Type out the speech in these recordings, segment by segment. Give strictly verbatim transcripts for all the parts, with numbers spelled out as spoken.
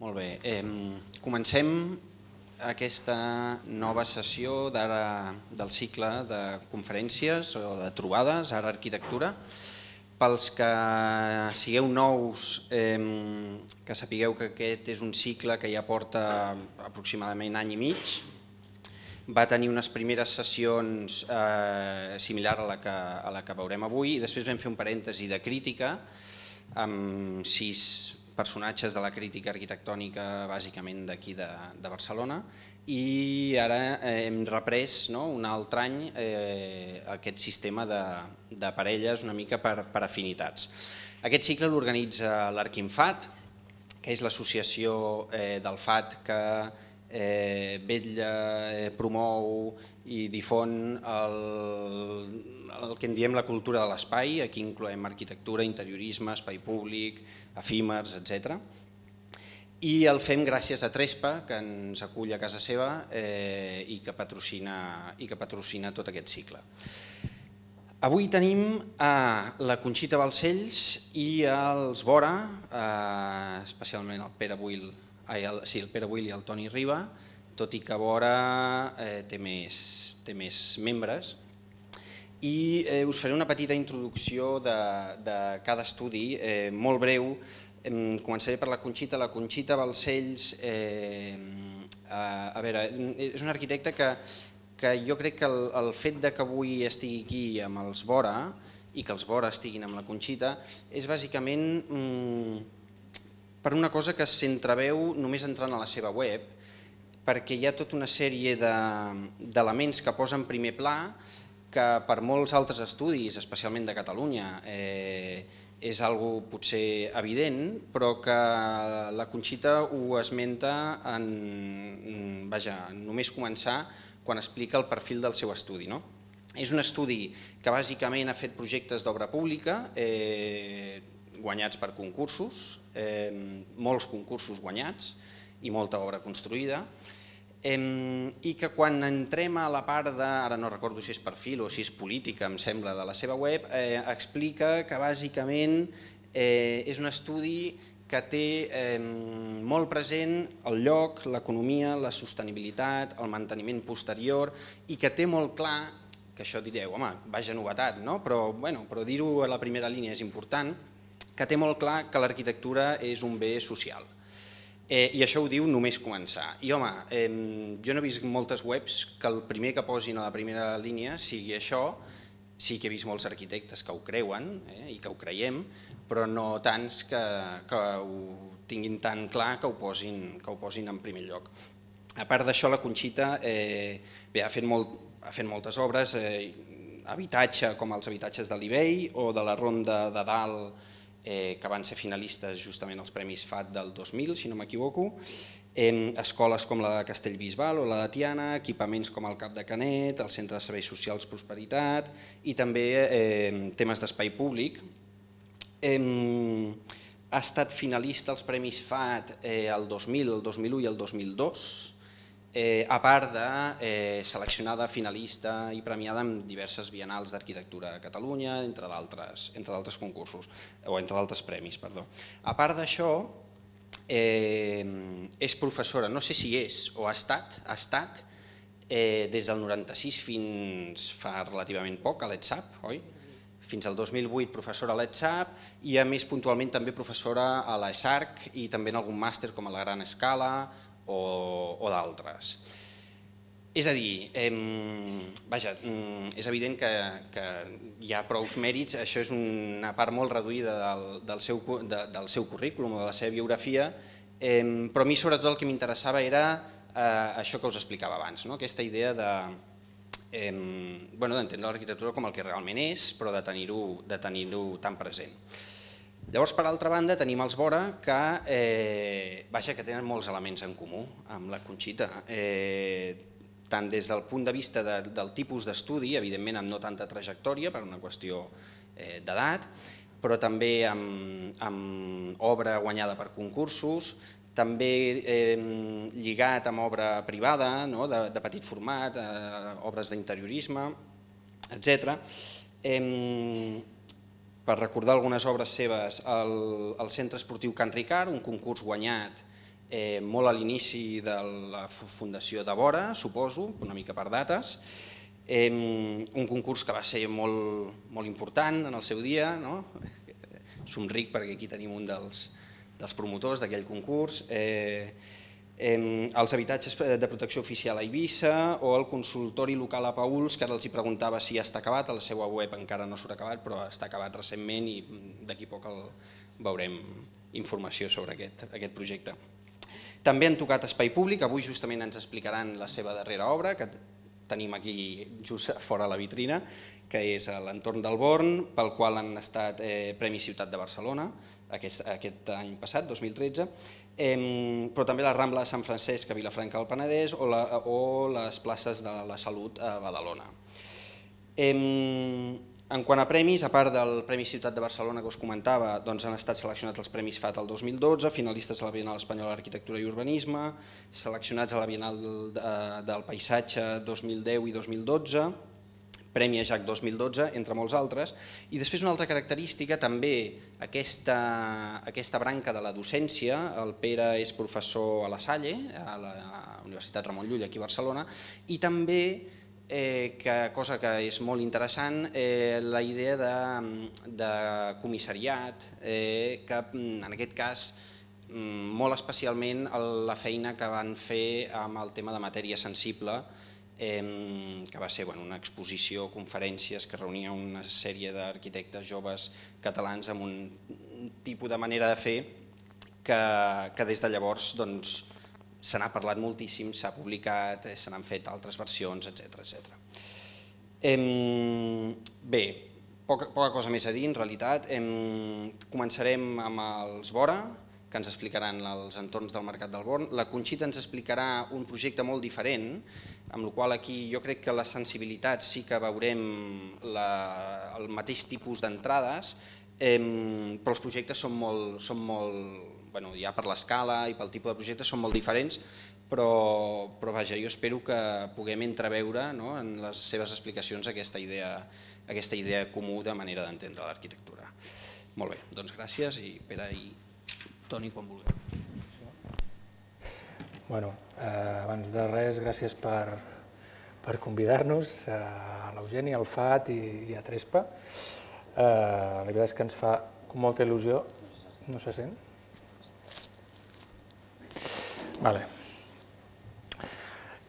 Molt bé. Eh, comencem aquesta nova sessió d'ara del cicle de conferències o de trobades, ara arquitectura. Pels que sigueu nous, eh, que sapigueu que aquest és un cicle que ja porta aproximadament any i mig. Va tenir unes primeres sessions eh, similar a la, que, a la que veurem avui i després vam fer un parèntesi de crítica amb sis personatges de la crítica arquitectònica bàsicament d'aquí de, de Barcelona i ara eh, hem reprès no, un altre any eh, aquest sistema de, de parelles una mica per, per afinitats. Aquest cicle l'organitza l'Arquinfat, que és l'associació eh, del F A T que eh, vetlla, eh, promou i difon el, el que en diem la cultura de l'espai. Aquí incloem arquitectura, interiorisme, espai públic, efímers, etcètera. I el fem gràcies a Trespa, que ens acull a casa seva eh, i, que patrocina, i que patrocina tot aquest cicle. Avui tenim a la Conxita Balcells i els Vora, eh, especialment el Pere Buil, ai, el, sí, el Pere Buil i el Toni Riba, tot i que Vora eh, té, més, té més membres. I eh, us faré una petita introducció de, de cada estudi, eh, molt breu. Eh, començaré per la Conxita. La Conxita Balcells, eh, a, a veure, és un arquitecte que, que jo crec que el, el fet de que avui estigui aquí amb els Vora i que els Vora estiguin amb la Conxita és bàsicament mm, per una cosa que s'entreveu només entrant a la seva web, perquè hi ha tota una sèrie d'elements que posa en primer pla que per molts altres estudis, especialment de Catalunya, eh, és algo potser evident, però que la Conxita ho esmenta en, vaja, només començar quan explica el perfil del seu estudi. No? És un estudi que bàsicament ha fet projectes d'obra pública, eh, guanyats per concursos, eh, molts concursos guanyats i molta obra construïda, Eh, i que quan entrem a la part de, ara no recordo si és perfil o si és política, em sembla, de la seva web, eh, explica que bàsicament eh, és un estudi que té eh, molt present el lloc, l'economia, la sostenibilitat, el manteniment posterior i que té molt clar, que això direu, home, vaja novetat, no? però, bueno, però dir-ho a la primera línia és important, que té molt clar que l'arquitectura és un bé social. Eh, I això ho diu només començar. I home, eh, jo no he vist moltes webs que el primer que posin a la primera línia sigui això. Sí que he vist molts arquitectes que ho creuen eh, i que ho creiem, però no tants que, que ho tinguin tan clar que ho posin, que ho posin en primer lloc. A part d'això, la Conxita eh, bé, ha, fet molt, ha fet moltes obres, eh, habitatge com els habitatges de l'Ibei o de la Ronda de Dalt, Eh, que van ser finalistes justament als Premis F A T del dos mil, si no m'equivoco, eh, escoles com la de Castellbisbal o la de Tiana, equipaments com el Cap de Canet, el Centre de Serveis Socials Prosperitat i també eh, temes d'espai públic. Eh, ha estat finalista als Premis F A T eh, el dos mil, el dos mil u i el dos mil dos, Eh, a part de eh, seleccionada, finalista i premiada en diverses bienals d'arquitectura a Catalunya, entre d'altres entre d'altres concursos, o entre d'altres premis, perdó. A part d'això, eh, és professora, no sé si és o ha estat, ha estat eh, des del noranta-sis fins fa relativament poc a l'ETSAP, oi? Fins al dos mil vuit professora a l'ETSAP i a més puntualment també professora a l'ESARC i també en algun màster com a la Gran Escala o, o d'altres. És a dir, eh, vaja, és evident que, que hi ha prou mèrits, això és una part molt reduïda del, del, seu, de, del seu currículum o de la seva biografia, eh, però a mi sobretot el que m'interessava era eh, això que us explicava abans, no? Aquesta idea de eh, bueno, d'entendre l'arquitectura com el que realment és, però de tenir-ho de tenir-ho tan present. Llavors, per altra banda, tenim els Vora que, eh, vaja, que tenen molts elements en comú amb la Conxita, eh, tant des del punt de vista de, del tipus d'estudi, evidentment amb no tanta trajectòria per una qüestió eh, d'edat, però també amb, amb obra guanyada per concursos, també eh, lligat amb obra privada, no? de, de petit format, eh, obres d'interiorisme, etcètera. Eh, per recordar algunes obres seves, el, el Centre Esportiu Can Ricard, un concurs guanyat molt a l'inici de la fundació de Vora, suposo, una mica per dates. Un concurs que va ser molt important en el seu dia, somric perquè aquí tenim un dels promotors d'aquell concurs, els habitatges de protecció oficial a Eivissa o el consultori local a Paüls, que ara els preguntava si ja està acabat, a la seva web encara no surt acabat, però està acabat recentment i d'aquí poc veurem informació sobre aquest projecte. També han tocat espai públic, avui justament ens explicaran la seva darrera obra, que tenim aquí just fora la vitrina, que és l'entorn del Born, pel qual han estat Premi Ciutat de Barcelona aquest any passat, dos mil tretze, però també la Rambla de Sant Francesc a Vilafranca del Penedès o les places de la Salut a Badalona. En quant a premis, a part del Premi Ciutat de Barcelona que us comentava, han estat seleccionats els Premis F A T el dos mil dotze, finalistes a la Bienal Espanyola d'Arquitectura i Urbanisme, seleccionats a la Bienal del Paisatge dos mil deu i dos mil dotze, Premi Ajax dos mil dotze, entre molts altres. I després una altra característica, també aquesta branca de la docència, el Pere és professor a la Salle, a la Universitat Ramon Llull, aquí a Barcelona, i també, cosa que és molt interessant, la idea de comissariat, que en aquest cas, molt especialment la feina que van fer amb el tema de matèria sensible, que va ser una exposició, conferències que reunia una sèrie d'arquitectes joves catalans amb un tipus de manera de fer que des de llavors se n'ha parlat moltíssim, s'ha publicat, se n'han fet altres versions, etcètera. Bé, poca cosa més a dir en realitat. Començarem amb els Vora, que ens explicaran els entorns del Mercat del Born. La Conxita ens explicarà un projecte molt diferent, amb la qual aquí jo crec que les sensibilitats sí que veurem el mateix tipus d'entrades, però els projectes són molt, ja per l'escala i pel tipus de projectes són molt diferents, però vaja, jo espero que puguem entreveure en les seves explicacions aquesta idea comú de manera d'entendre l'arquitectura. Molt bé, doncs gràcies i Pere i Toni, quan vulgueu. Bueno, abans de res, gràcies per convidar-nos, a l'Eugeni, al F A T i a Trespa. La veritat és que ens fa molta il·lusió. No se sent? Vale.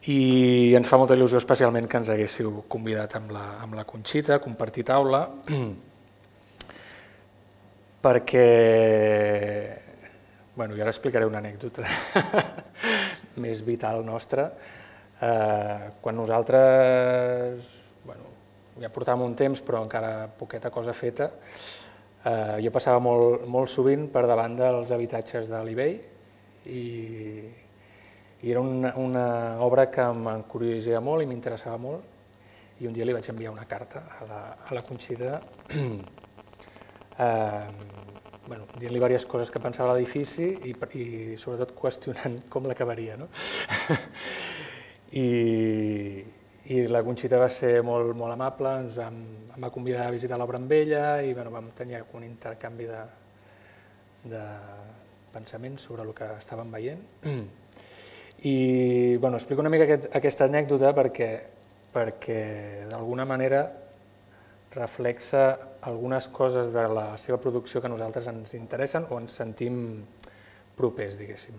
I ens fa molta il·lusió especialment que ens haguéssiu convidat amb la Conxita a compartir taula, perquè Bueno, jo ara explicaré una anècdota més vital nostra. Quan nosaltres, bueno, ja portàvem un temps, però encara poqueta cosa feta, jo passava molt sovint per davant dels habitatges de l'eBay i era una obra que m'encuriosava molt i m'interessava molt i un dia li vaig enviar una carta a la Conxita dient-li diverses coses que pensava a l'edifici i sobretot qüestionant com l'acabaria. I la Conxita va ser molt amable, ens va convidar a visitar l'obra amb ella i vam tenir un intercanvi de pensaments sobre el que estàvem veient. I explico una mica aquesta anècdota perquè d'alguna manera reflexa algunes coses de la seva producció que a nosaltres ens interessen o ens sentim propers, diguéssim.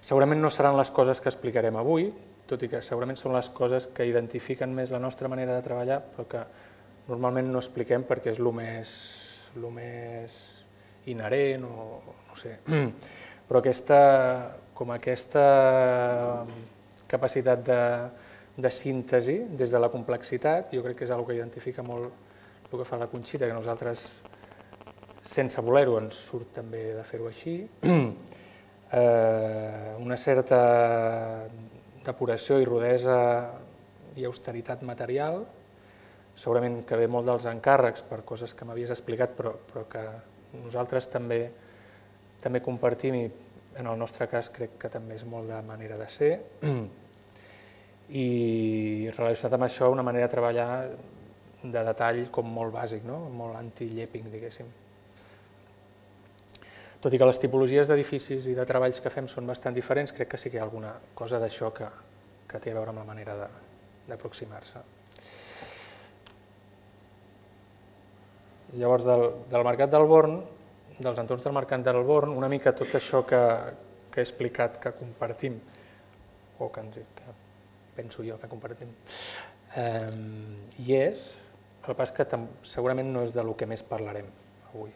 Segurament no seran les coses que explicarem avui, tot i que segurament són les coses que identifiquen més la nostra manera de treballar, però que normalment no expliquem perquè és el més inherent o no sé. Però com aquesta capacitat de síntesi des de la complexitat, jo crec que és una cosa que identifica molt el que fa la Conxita, que nosaltres, sense voler-ho, ens surt també de fer-ho així. Una certa depuració i rudesa i austeritat material, segurament que ve molt dels encàrrecs per coses que m'havies explicat, però que nosaltres també compartim i en el nostre cas crec que també és molt de manera de ser. I relacionat amb això, una manera de treballar de detall com molt bàsic, molt anti-llepping, diguéssim. tot i que les tipologies d'edificis i de treballs que fem són bastant diferents, crec que sí que hi ha alguna cosa d'això que, que té a veure amb la manera d'aproximar-se. Llavors, del, del Mercat del Born, dels entorns del Mercat del Born, una mica tot això que, que he explicat, que compartim, o que, ens, que penso jo que compartim, eh, hi és, el que passa que segurament no és del que més parlarem avui.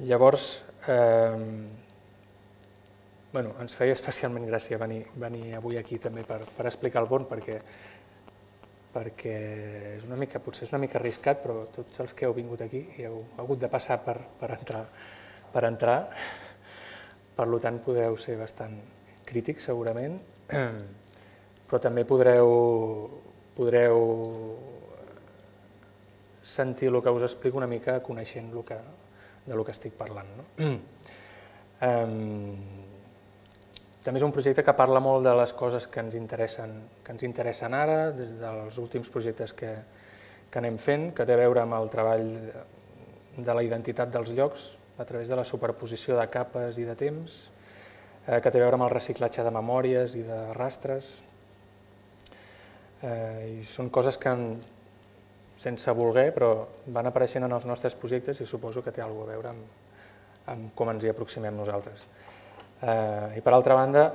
Llavors, eh, bueno, ens feia especialment gràcia venir, venir avui aquí també per, per explicar el Born, perquè, perquè és una mica, potser és una mica arriscat, però tots els que heu vingut aquí hi heu hagut de passar per, per, entrar, per entrar, per tant podeu ser bastant crítics segurament, però també podreu, podreu sentir el que us explico una mica coneixent el que, de lo que estic parlant. No? Um, també és un projecte que parla molt de les coses que ens interessen, que ens interessen ara, des dels últims projectes que, que anem fent, que té a veure amb el treball de la identitat dels llocs a través de la superposició de capes i de temps, eh, que té a veure amb el reciclatge de memòries i de rastres. Eh, i són coses que en, sense voler, però van apareixent en els nostres projectes i suposo que té alguna cosa a veure amb, amb com ens hi aproximem nosaltres. Eh, I per altra banda,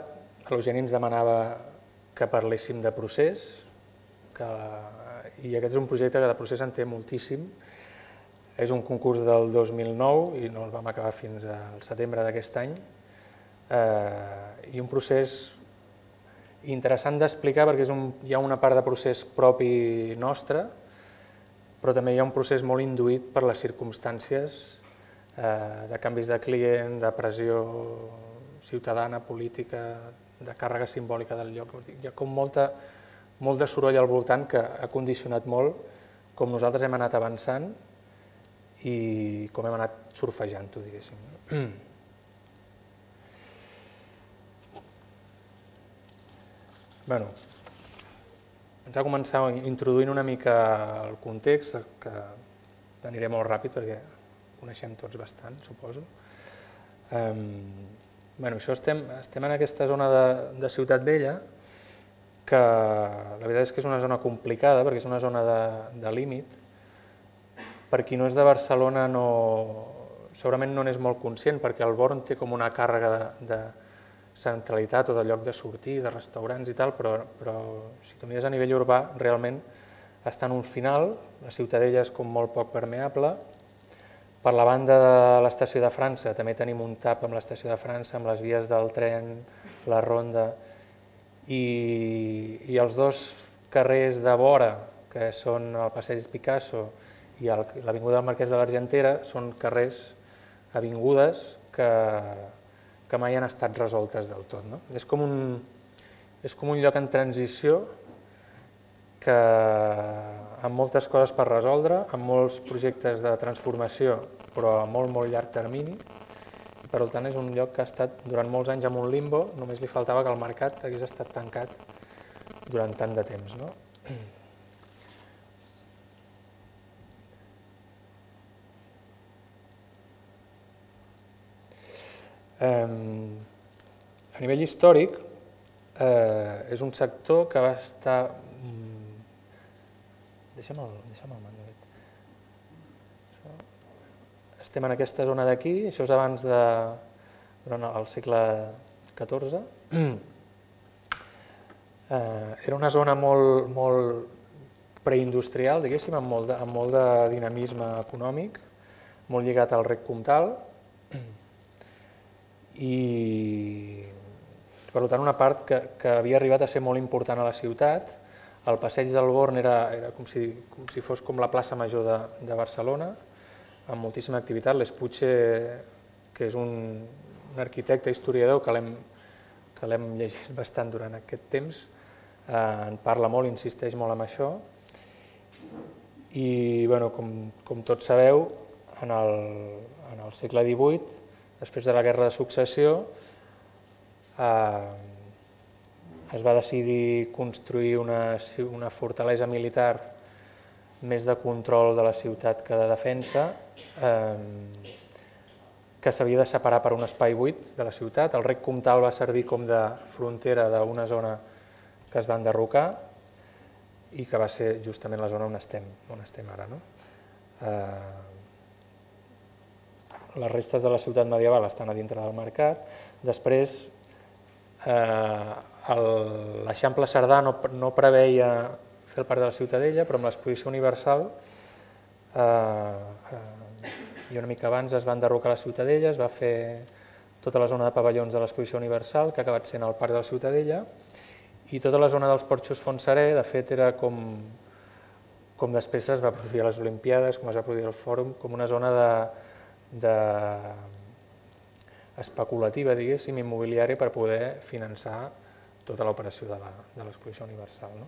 l'Eugeni ens demanava que parléssim de procés, que, i aquest és un projecte que de procés en té moltíssim. És un concurs del dos mil nou i no el vam acabar fins al setembre d'aquest any. Eh, I un procés interessant d'explicar perquè és un, hi ha una part de procés propi nostre, però també hi ha un procés molt induït per les circumstàncies eh, de canvis de client, de pressió ciutadana, política, de càrrega simbòlica del lloc. Hi ha com molta, molt de soroll al voltant que ha condicionat molt com nosaltres hem anat avançant i com hem anat surfejant-ho, diguéssim. Bueno, ens ha començat introduint una mica el context, que aniré molt ràpid perquè coneixem tots bastant, suposo. Um, bueno, això estem, estem en aquesta zona de, de Ciutat Vella, que la veritat és que és una zona complicada, perquè és una zona de, de límit. Per qui no és de Barcelona, no, segurament no n'és molt conscient, perquè el Born té com una càrrega de, de centralitat o de lloc de sortir, de restaurants i tal, però, però si tu mires a nivell urbà, realment està en un final, la Ciutadella és com molt poc permeable. Per la banda de l'estació de França també tenim un tap amb l'estació de França, amb les vies del tren, la ronda, i, i els dos carrers de vora, que són el Passeig Picasso i l'Avinguda del Marquès de l'Argentera, són carrers, avingudes, que que mai han estat resoltes del tot. No? És, com un, és com un lloc en transició que amb moltes coses per resoldre, amb molts projectes de transformació, però a molt, molt llarg termini. I per tant, és un lloc que ha estat durant molts anys en un limbo, només li faltava que el mercat hagués estat tancat durant tant de temps. No? A nivell històric, és un sector que va estar... Deixa'm el, deixa'm el manual. Estem en aquesta zona d'aquí, això és abans de... durant el segle catorze. Era una zona molt, molt preindustrial, diguéssim, amb molt de, amb molt de dinamisme econòmic, molt lligat al rec comtal, i per tant una part que, que havia arribat a ser molt important a la ciutat. El passeig del Born era, era com, si, com si fos com la plaça major de, de Barcelona, amb moltíssima activitat. L'Espuche, que és un, un arquitecte historiador que l'hem que l'hem llegit bastant durant aquest temps, eh, en parla molt, insisteix molt en això. I bueno, com, com tots sabeu, en el, en el segle divuit, després de la Guerra de Successió, eh, es va decidir construir una, una fortalesa militar més de control de la ciutat que de defensa, que s'havia de separar per un espai buit de la ciutat. El rec comtal va servir com de frontera d'una zona que es va enderrocar i que va ser justament la zona on estem, on estem ara. No? Eh, les restes de la ciutat medieval estan a dintre del mercat. Després, eh, l'Eixample Cerdà no, no preveia fer el parc de la Ciutadella, però amb l'exposició universal eh, eh, i una mica abans es va enderrocar la Ciutadella, es va fer tota la zona de pavellons de l'exposició universal, que ha acabat sent el parc de la Ciutadella, i tota la zona dels porxos Fontserè, de fet, era com, com després es va produir a les Olimpiades, com es va produir al Fòrum, com una zona de, de especulativa, diguéssim, immobiliària per poder finançar tota l'operació de l'exposició universal. No?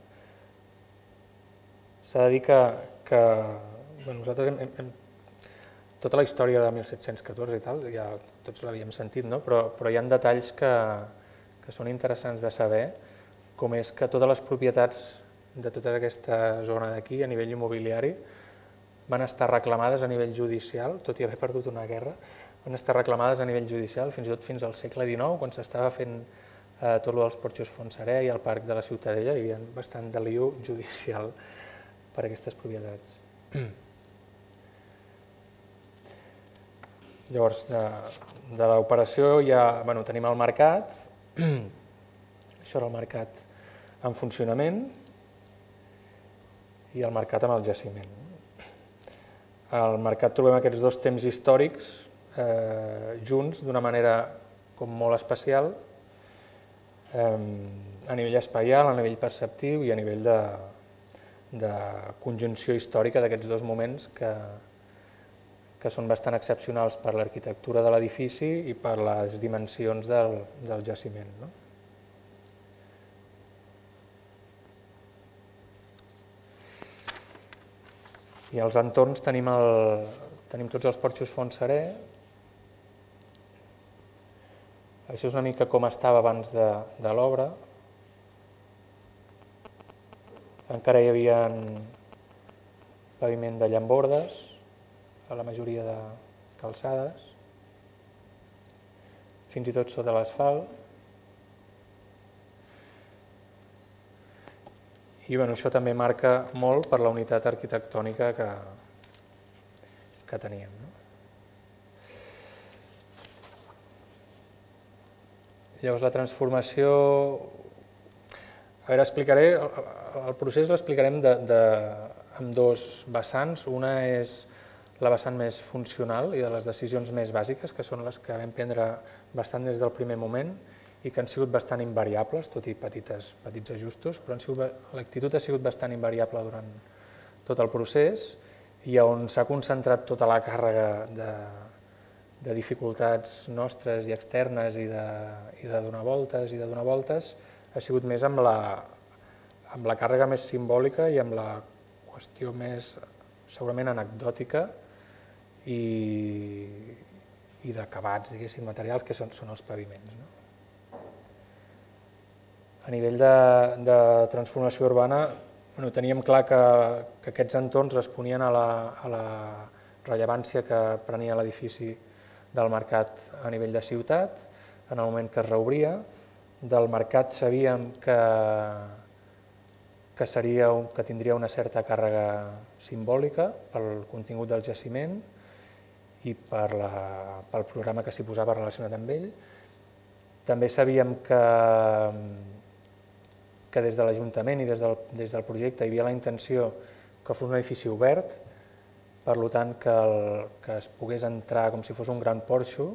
S'ha de dir que, que bueno, nosaltres hem, hem, tota la història de mil set-cents catorze i tal, ja tots l'havíem sentit, no? però, però hi ha detalls que, que són interessants de saber, com és que totes les propietats de tota aquesta zona d'aquí, a nivell immobiliari, van estar reclamades a nivell judicial, tot i haver perdut una guerra, van estar reclamades a nivell judicial fins i tot fins al segle dinou, quan s'estava fent eh, tot el dels porxos Fontserè i el parc de la Ciutadella, hi havia bastant de lío judicial per a aquestes propietats. Llavors, de, de l'operació ja bueno, tenim el mercat, això era el mercat en funcionament i el mercat amb el jaciment. Al mercat trobem aquests dos temps històrics eh, junts d'una manera com molt especial, eh, a nivell espaial, a nivell perceptiu i a nivell de, de conjunció històrica d'aquests dos moments que, que són bastant excepcionals per l'arquitectura de l'edifici i per les dimensions del, del jaciment. No? I als entorns tenim, el, tenim tots els porxos Fontserè. Això és una mica com estava abans de, de l'obra. Encara hi havia paviment de llambordes a la majoria de calçades, fins i tot sota l'asfalt. I bueno, això també marca molt per la unitat arquitectònica que, que teníem. No? Llavors la transformació... A veure, explicaré... El procés l'explicarem de, de, amb dos vessants. Una és la vessant més funcional i de les decisions més bàsiques, que són les que vam prendre bastant des del primer moment, i que han sigut bastant invariables, tot i petites, petits ajustos, però l'actitud ha sigut bastant invariable durant tot el procés i on s'ha concentrat tota la càrrega de, de dificultats nostres i externes i de, i de donar voltes i de donar voltes ha sigut més amb la, amb la càrrega més simbòlica i amb la qüestió més segurament anecdòtica i, i d'acabats, diguéssim, materials, que són, són els paviments. No? A nivell de, de transformació urbana, bueno, teníem clar que, que aquests entorns responien a la, a la rellevància que prenia l'edifici del mercat a nivell de ciutat, en el moment que es reobria. Del mercat sabíem que, que, seria un, que tindria una certa càrrega simbòlica pel contingut del jaciment i per la, pel programa que s'hi posava relacionat amb ell. També sabíem que que des de l'Ajuntament i des del, des del projecte hi havia la intenció que fos un edifici obert, per tant que, el, que es pogués entrar com si fos un gran porxo,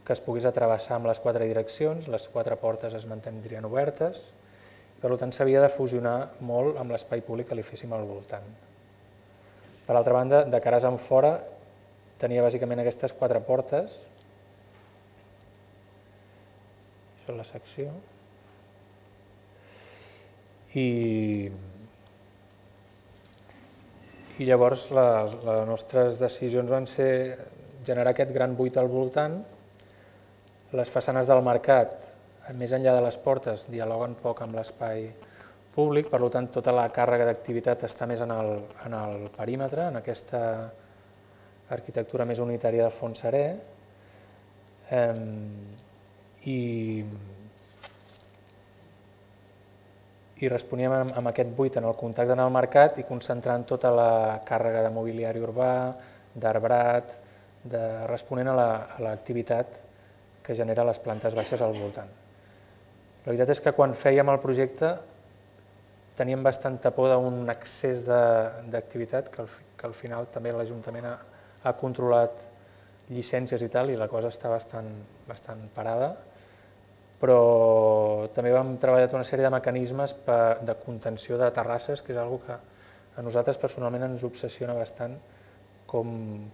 que es pogués atrevessar amb les quatre direccions, les quatre portes es mantindrien obertes, per tant s'havia de fusionar molt amb l'espai públic que li féssim al voltant. Per altra banda, de cares en fora, tenia bàsicament aquestes quatre portes, això és la secció, I, i llavors les, les nostres decisions van ser generar aquest gran buit al voltant. Les façanes del mercat, més enllà de les portes, dialoguen poc amb l'espai públic, per tant tota la càrrega d'activitat està més en el, en el perímetre, en aquesta arquitectura més unitària del fons serè, eh, i, i responíem amb, amb aquest buit en el contacte en el mercat i concentrant tota la càrrega de mobiliari urbà, d'arbrat, de, responent a l'activitat que genera les plantes baixes al voltant. La veritat és que quan fèiem el projecte teníem bastanta por d'un excés d'activitat, que, que al final també l'Ajuntament ha, ha controlat llicències i tal, i la cosa està bastant, bastant parada, però també vam treballar una sèrie de mecanismes per, de contenció de terrasses, que és una que a nosaltres personalment ens obsessiona bastant, com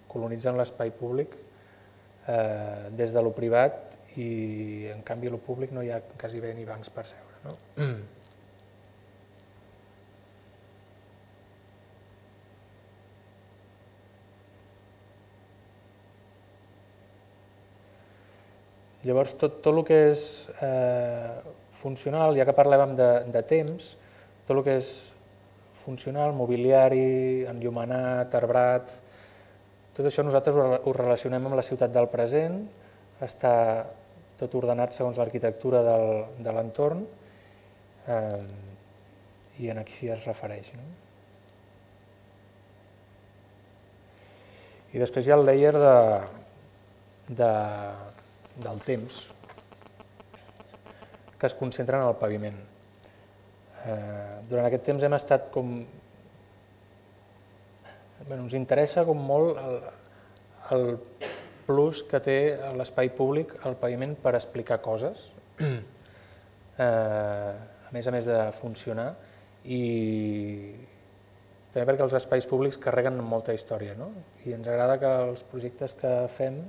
colonitzen l'espai públic eh, des de lo privat, i en canvi a lo públic no hi ha quasi bé ni bancs per seure. No? Mm. Llavors, tot, tot el que és eh, funcional, ja que parlàvem de, de temps, tot el que és funcional, mobiliari, enllumenat, arbrat, tot això nosaltres ho, ho relacionem amb la ciutat del present, està tot ordenat segons l'arquitectura de l'entorn, eh, i en aquí es refereix. No? I després hi ha el layer de, de, del temps, que es concentra en el paviment. Eh, durant aquest temps hem estat com... Bueno, ens interessa com molt el, el plus que té l'espai públic, el paviment, per explicar coses, eh, a més a més de funcionar, i també perquè els espais públics carreguen molta història, no? I ens agrada que els projectes que fem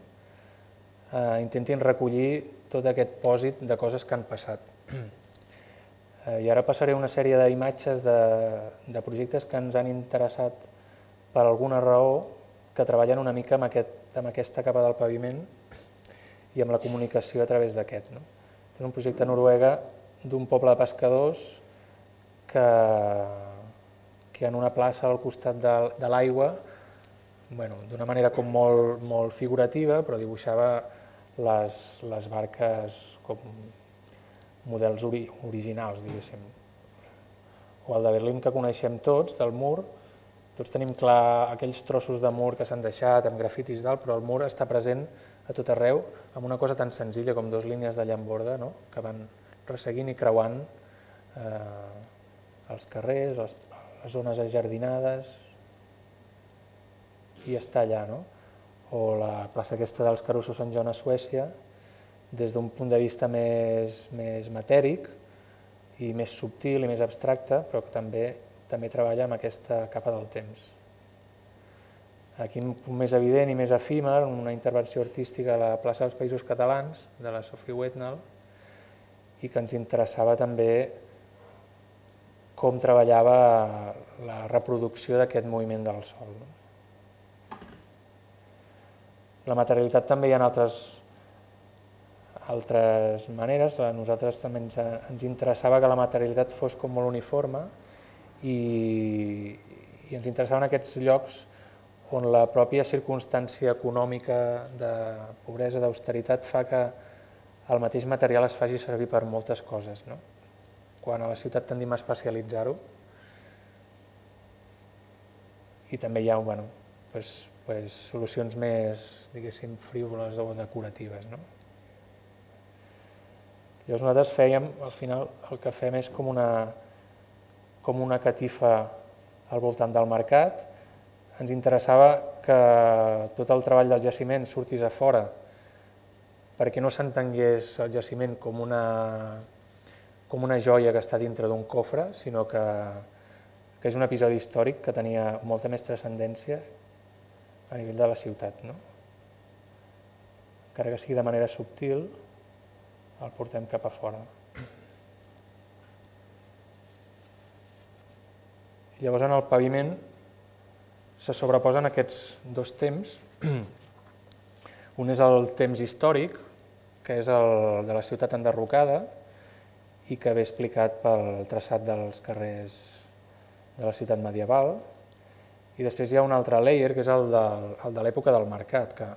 eh, intentin recollir tot aquest pòsit de coses que han passat. Eh, I ara passaré una sèrie d'imatges de, de projectes que ens han interessat per alguna raó, que treballen una mica amb, aquest, amb aquesta capa del paviment i amb la comunicació a través d'aquest. No? És un projecte a Noruega d'un poble de pescadors que, que en una plaça al costat de, de l'aigua, bueno, d'una manera com molt, molt figurativa, però dibuixava les, les barques com models ori, originals, diguéssim. O el de Berlín que coneixem tots, del mur, tots tenim clar aquells trossos de mur que s'han deixat amb grafitis i tal, però el mur està present a tot arreu amb una cosa tan senzilla com dues línies de llamborda, no? Que van resseguint i creuant eh, els carrers, les, les zones ajardinades, i està allà. No? O la plaça aquesta dels Caruso Sant Joan a Suècia, des d'un punt de vista més, més matèric i més subtil i més abstracte, però que també també treballa amb aquesta capa del temps. Aquí un punt més evident i més efímer, una intervenció artística a la plaça dels Països Catalans, de la Sophie Wetnell, i que ens interessava també com treballava la reproducció d'aquest moviment del sol. La materialitat també hi ha altres, altres maneres. A nosaltres també ens, ens interessava que la materialitat fos com molt uniforme, I, i ens interessaven aquests llocs on la pròpia circumstància econòmica de pobresa, d'austeritat, fa que el mateix material es faci servir per moltes coses. No? Quan a la ciutat tendim a especialitzar-ho, i també hi ha bueno, pues, pues, solucions més, diguéssim, frívoles o decoratives. No? Llavors nosaltres fèiem, al final, el que fem és com una... com una catifa al voltant del mercat. Ens interessava que tot el treball del jaciment sortís a fora perquè no s'entengués el jaciment com una, com una joia que està dintre d'un cofre, sinó que, que és un episodi històric que tenia molta més transcendència a nivell de la ciutat. No? Encara que sigui de manera subtil, el portem cap a fora. Llavors, en el paviment se sobreposen aquests dos temps. Un és el temps històric, que és el de la ciutat enderrocada, i que ve explicat pel traçat dels carrers de la ciutat medieval. I després hi ha un altre layer, que és el de, el de l'època del mercat, que,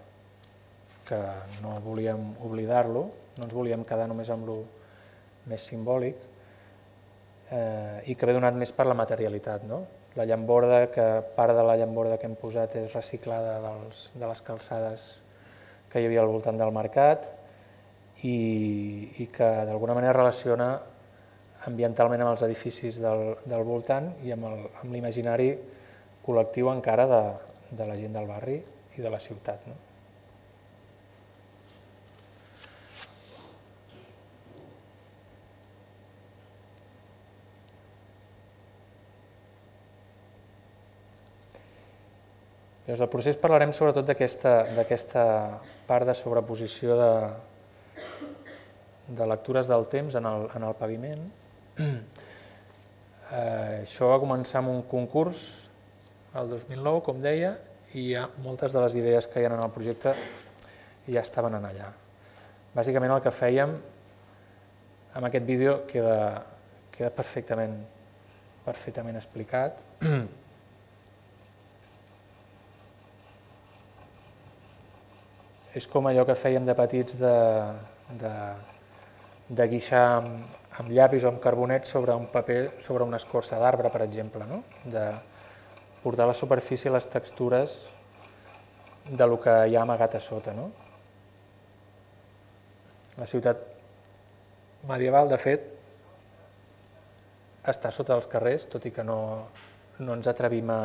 que no volíem oblidar-lo, no ens volíem quedar només amb lo més simbòlic, eh, i que ve donat més per la materialitat, no? La llamborda, que part de la llamborda que hem posat és reciclada dels, de les calçades que hi havia al voltant del mercat i, i que d'alguna manera relaciona ambientalment amb els edificis del, del voltant i amb l'imaginari col·lectiu encara de, de la gent del barri i de la ciutat, no? Llavors, al procés parlarem sobretot d'aquesta part de sobreposició de, de lectures del temps en el, en el paviment. Eh, això va començar amb un concurs el dos mil nou, com deia, i ja moltes de les idees que hi ha en el projecte ja estaven en allà. Bàsicament el que fèiem amb aquest vídeo queda, queda perfectament, perfectament explicat. És com allò que fèiem de petits de, de, de guixar amb, amb llapis o amb carbonet sobre un paper, sobre una escorça d'arbre, per exemple, no? De portar a la superfície les textures de lo que hi ha amagat a sota, no? La ciutat medieval, de fet, està sota els carrers, tot i que no, no ens atrevim a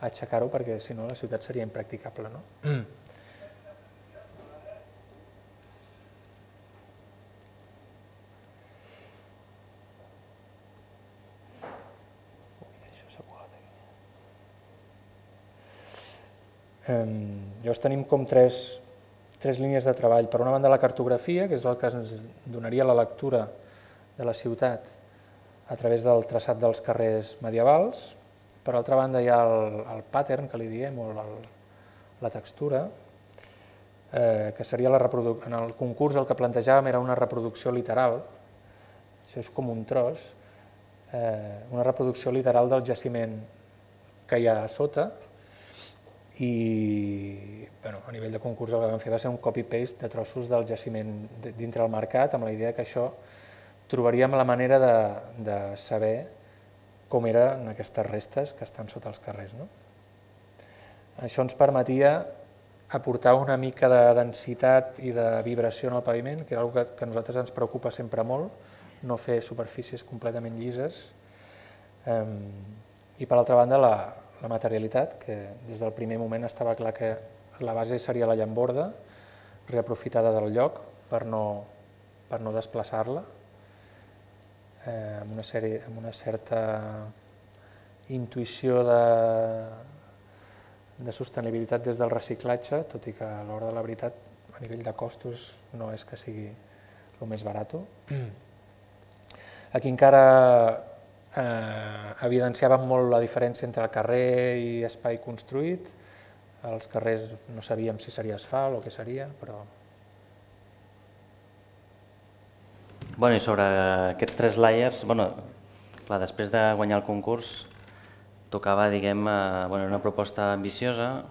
aixecar-ho, perquè si no la ciutat seria impracticable, no? Llavors tenim com tres, tres línies de treball. Per una banda la cartografia, que és el que ens donaria la lectura de la ciutat a través del traçat dels carrers medievals. Per altra banda hi ha el, el pattern, que li diem, o el, la textura, eh, que seria la reproducció. En el concurs el que plantejàvem era una reproducció literal, això és com un tros, eh, una reproducció literal del jaciment que hi ha a sota, i bueno, a nivell de concurs el que vam fer va ser un copy-paste de trossos del jaciment dintre el mercat, amb la idea que això trobaríem la manera de, de saber com eren aquestes restes que estan sota els carrers, no? Això ens permetia aportar una mica de densitat i de vibració en el paviment, que és una cosa que a nosaltres ens preocupa sempre molt, no fer superfícies completament llises. I per altra banda la, la materialitat, que des del primer moment estava clar que la base seria la llamborda, reaprofitada del lloc per no, per no desplaçar-la, amb una, sèrie, amb una certa intuïció de, de sostenibilitat des del reciclatge, tot i que a l'hora de la veritat, a nivell de costos, no és que sigui el més barat. Aquí encara eh, evidenciàvem molt la diferència entre el carrer i espai construït. Els carrers no sabíem si seria asfalt o què seria, però... Bueno, i sobre aquests tres layers, bueno, clar, després de guanyar el concurs, tocava, diguem, eh, bueno, una proposta ambiciosa,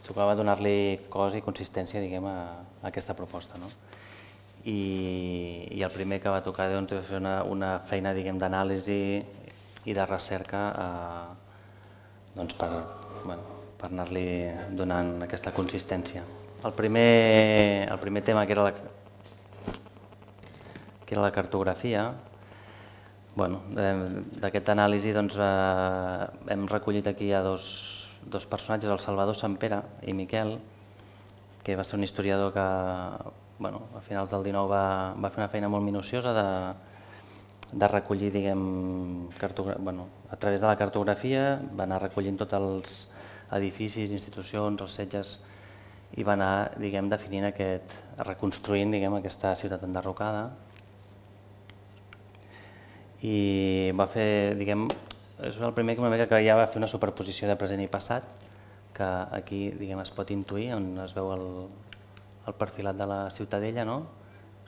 tocava donar-li cos i consistència, diguem, a, a aquesta proposta, no? I, i el primer que va tocar doncs, va fer una, una feina, diguem, d'anàlisi i de recerca eh, doncs per, bueno, per anar-li donant aquesta consistència. El primer, el primer tema, que era la, que era la cartografia, bueno, d'aquesta anàlisi doncs, eh, hem recollit aquí a dos, dos personatges, el Salvador Sampere i Miquel, que va ser un historiador que bueno, a finals del dinou va, va fer una feina molt minuciosa de, de recollir, diguem, bueno, a través de la cartografia, va anar recollint tots els edificis, institucions, els setges, i va anar, diguem, definint aquest, reconstruint, diguem, aquesta ciutat enderrocada. I va fer, diguem, és el primer que una mica que ja va fer una superposició de present i passat, que aquí, diguem, es pot intuir, on es veu el, el perfilat de la Ciutadella, no?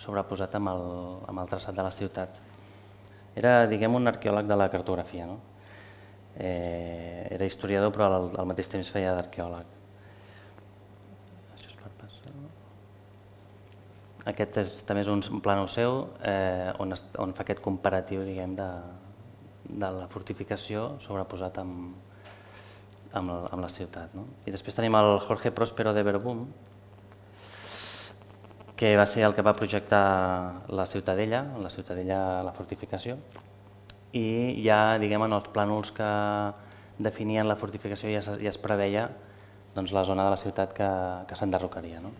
sobreposat amb el, amb el traçat de la ciutat. Era, diguem, un arqueòleg de la cartografia, no? Eh, era historiador però al, al mateix temps feia d'arqueòleg. Això és per passar. Aquest és, també és un plànol seu eh, on, es, on fa aquest comparatiu, diguem, de, de la fortificació sobreposat amb, amb, la, amb la ciutat, no? I després tenim el Jorge Próspero de Verdún, que va ser el que va projectar la Ciutadella, la Ciutadella, la fortificació, i ja, diguem, en els plànols que definien la fortificació ja, ja es preveia doncs, la zona de la ciutat que, que s'enderrocaria, no?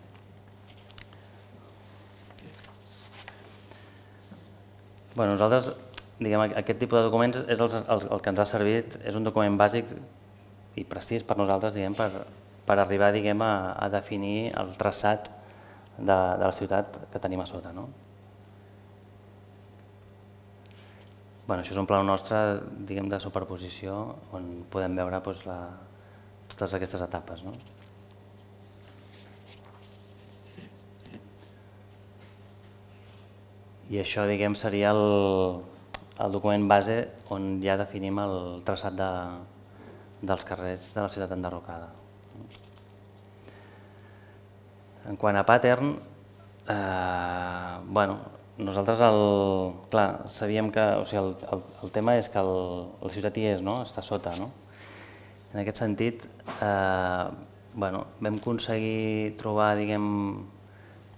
Bueno, nosaltres, diguem, aquest tipus de documents és el, el, el que ens ha servit, és un document bàsic i precís per nosaltres, diguem, per, per arribar, diguem, a, a definir el traçat de, de la ciutat que tenim a sota, no? Bueno, això és un plànol nostre, diguem, de superposició on podem veure doncs, la, totes aquestes etapes, no? I això, diguem, seria el, el document base on ja definim el traçat de, dels carrers de la ciutat enderrocada. En quant a pattern, eh, bueno, nosaltres el, clar, sabíem que, o sigui, el, el, el tema és que el, la ciutat hi és, no? Està sota, no? En aquest sentit, eh, bueno, vam aconseguir trobar, diguem,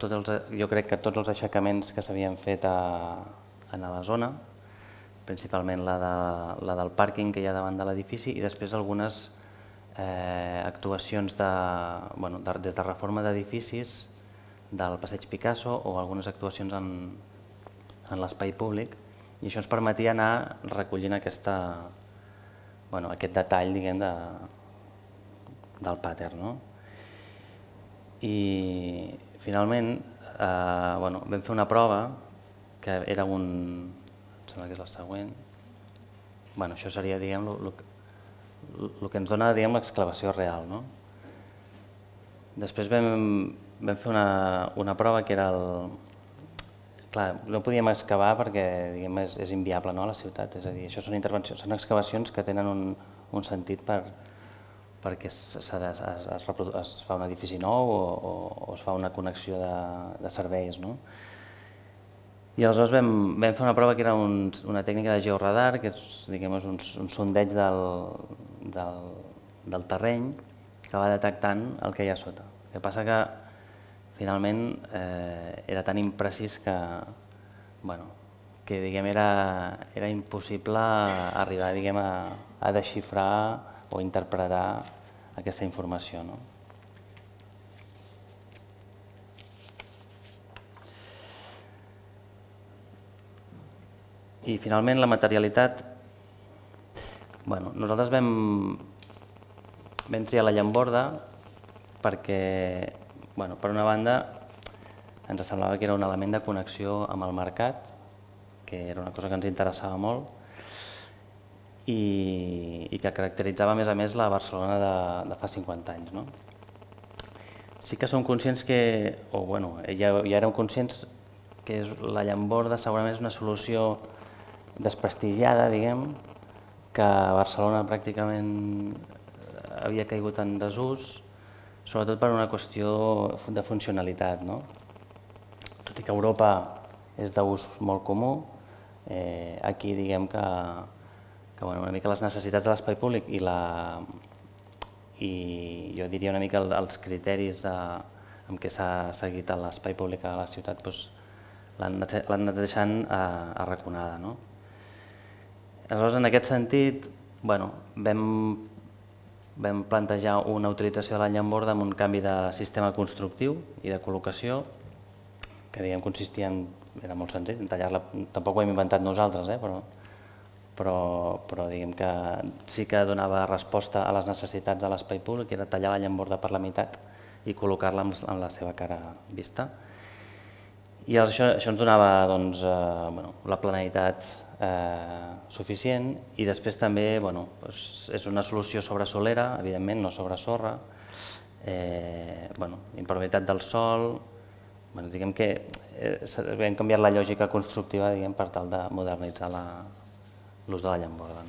tots els, jo crec que tots els aixecaments que s'havien fet a, a la zona, principalment la, de, la del pàrquing que hi ha davant de l'edifici i després algunes eh, actuacions de, bueno, de, des de reforma d'edificis del Passeig Picasso o algunes actuacions en, en l'espai públic i això ens permetia anar recollint aquesta, bueno, aquest detall, diguem, de, del pattern, no? I finalment eh, bueno, vam fer una prova que era un, em sembla que és la següent, bueno, això seria, diguem, el que ens dona, diguem, l'excavació real, no? Després vam, vam fer una, una prova que era el... Clar, no podíem excavar perquè, diguem, és, és inviable, no, a la ciutat, és a dir, això són intervencions, són excavacions que tenen un, un sentit per, perquè es, es, es, es fa un edifici nou o, o, o es fa una connexió de, de serveis, no? I aleshores vam, vam fer una prova que era un, una tècnica de georadar, que és, diguem, és un, un sondeig del, del, del terreny que va detectant el que hi ha sota. El que passa que finalment eh, era tan imprecís que, bueno, que diguem, era, era impossible arribar, diguem, a, a desxifrar o interpretar aquesta informació, no? I finalment la materialitat, bueno, nosaltres vam, vam triar la llamborda perquè, bueno, per una banda, ens semblava que era un element de connexió amb el mercat, que era una cosa que ens interessava molt, i, i que caracteritzava a més a més la Barcelona de, de fa cinquanta anys, no? Sí que som conscients que, o bueno, ja, ja érem conscients que és, la llamborda segurament és una solució desprestigiada, diguem, que a Barcelona pràcticament havia caigut en desús, sobretot per una qüestió de funcionalitat, no? Tot i que a Europa és d'ús molt comú, eh, aquí diguem que, que bueno, una mica les necessitats de l'espai públic i, la, i jo diria una mica els criteris de, amb què s'ha seguit l'espai públic a la ciutat doncs, l'han anat deixant arraconada, no? Aleshores, en aquest sentit, bueno, vam, vam plantejar una utilització de la llamborda amb un canvi de sistema constructiu i de col·locació, que diguem consistia en, era molt senzill, en tallar-la, tampoc ho hem inventat nosaltres, eh, però, però, però diguem que sí que donava resposta a les necessitats de l'espai públic, que era tallar la llamborda per la meitat i col·locar-la en la seva cara vista. I això, això ens donava doncs, eh, bueno, la planeïtat eh, suficient i després també bueno, doncs és una solució sobre solera, evidentment, no sobre sorra, eh, bueno, impermeabilitat del sol, diguem que hem canviat la lògica constructiva per tal de modernitzar l'ús de la llamborda.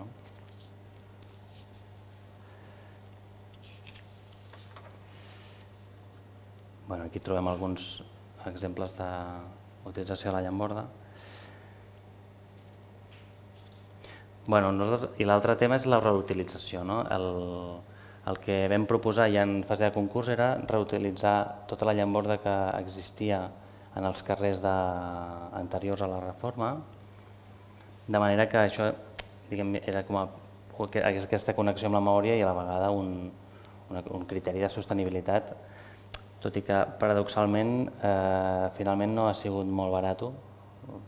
Aquí trobem alguns exemples d'utilització de la llamborda. I l'altre tema és la reutilització. El que vam proposar ja en fase de concurs era reutilitzar tota la llamborda que existia en els carrers anteriors a la reforma, de manera que això era com aquesta connexió amb la memòria i a la vegada un criteri de sostenibilitat, tot i que paradoxalment finalment no ha sigut molt barat,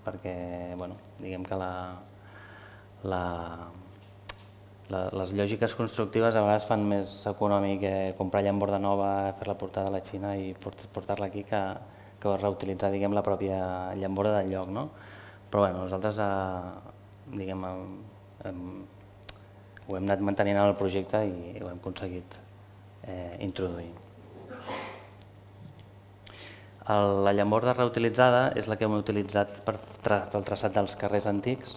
perquè diguem que les lògiques constructives a vegades fan més econòmic comprar llamborda nova, fer-la portar de la Xina i portar-la aquí que reutilitzar la pròpia llamborda del lloc. Però nosaltres ho hem anat mantenint en el projecte i ho hem aconseguit introduir. La llamborda reutilitzada és la que hem utilitzat pel traçat dels carrers antics,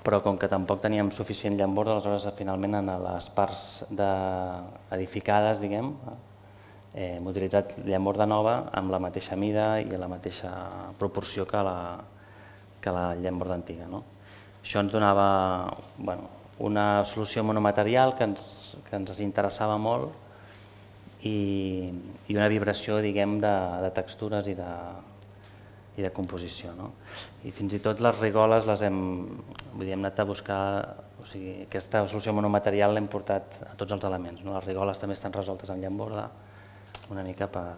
però com que tampoc teníem suficient llamborda, aleshores finalment en les parts edificades, diguem, hem utilitzat llamborda nova amb la mateixa mida i la mateixa proporció que la llamborda antiga. Això ens donava una solució monomaterial que ens interessava molt i una vibració, diguem, de textures i de i de composició. I fins i tot les rigoles les hem anat a buscar, o sigui, aquesta solució monomaterial l'hem portat a tots els elements. Les rigoles també estan resoltes en llamborda, una mica per...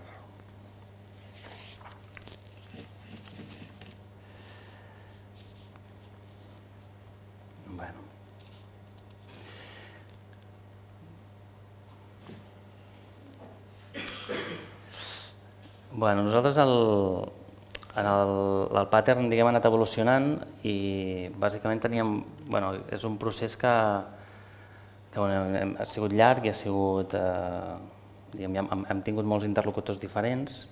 Bueno, nosaltres el... El pattern ha anat evolucionant i bàsicament teníem... És un procés que ha sigut llarg i ha sigut... Hem tingut molts interlocutors diferents,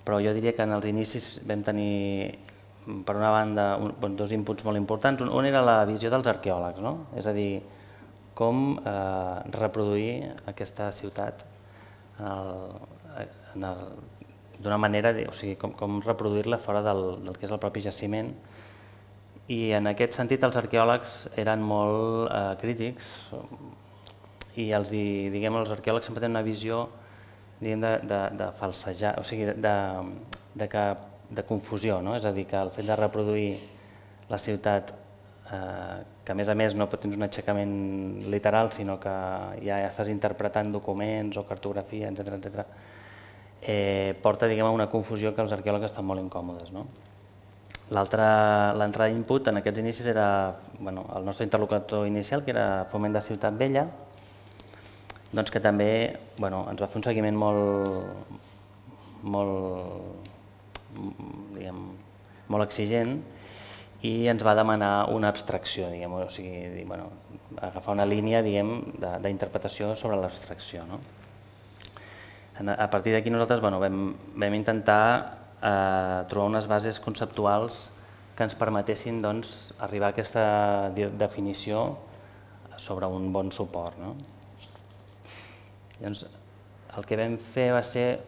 però jo diria que en els inicis vam tenir, per una banda, dos inputs molt importants. Un era la visió dels arqueòlegs, és a dir, com reproduir aquesta ciutat d'una manera, o sigui, com reproduir-la fora del que és el propi jaciment. I en aquest sentit els arqueòlegs eren molt crítics i els arqueòlegs sempre tenen una visió de falsejar, o sigui, de confusió, és a dir, que el fet de reproduir la ciutat, que a més a més no tens un aixecament literal, sinó que ja estàs interpretant documents o cartografia, etcètera, porta a una confusió que els arqueòlegs estan molt incòmodes. L'altre input en aquests inicis era el nostre interlocutor inicial, que era Foment de Ciutat Vella, que també ens va fer un seguiment molt exigent i ens va demanar una abstracció, o sigui, agafar una línia d'interpretació sobre l'abstracció. A partir d'aquí nosaltres vam intentar trobar unes bases conceptuals que ens permetessin arribar a aquesta definició sobre un bon suport. El que vam fer va ser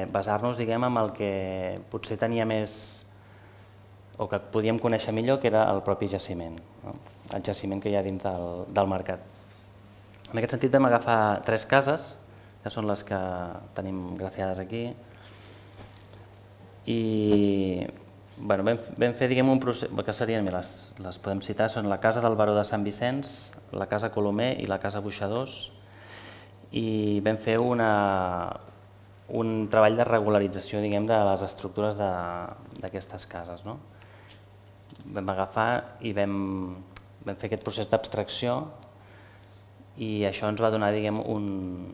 basar-nos en el que potser tenia més o que podíem conèixer millor, que era el propi jaciment, el jaciment que hi ha dins del mercat. En aquest sentit vam agafar tres cases, que són les que tenim grafiades aquí, i vam fer un procés, que serien, les podem citar, són la Casa del Baró de Sant Vicenç, la Casa Colomer i la Casa Boixadors, i vam fer un treball de regularització de les estructures d'aquestes cases. Vam agafar i vam fer aquest procés d'abstracció i això ens va donar un...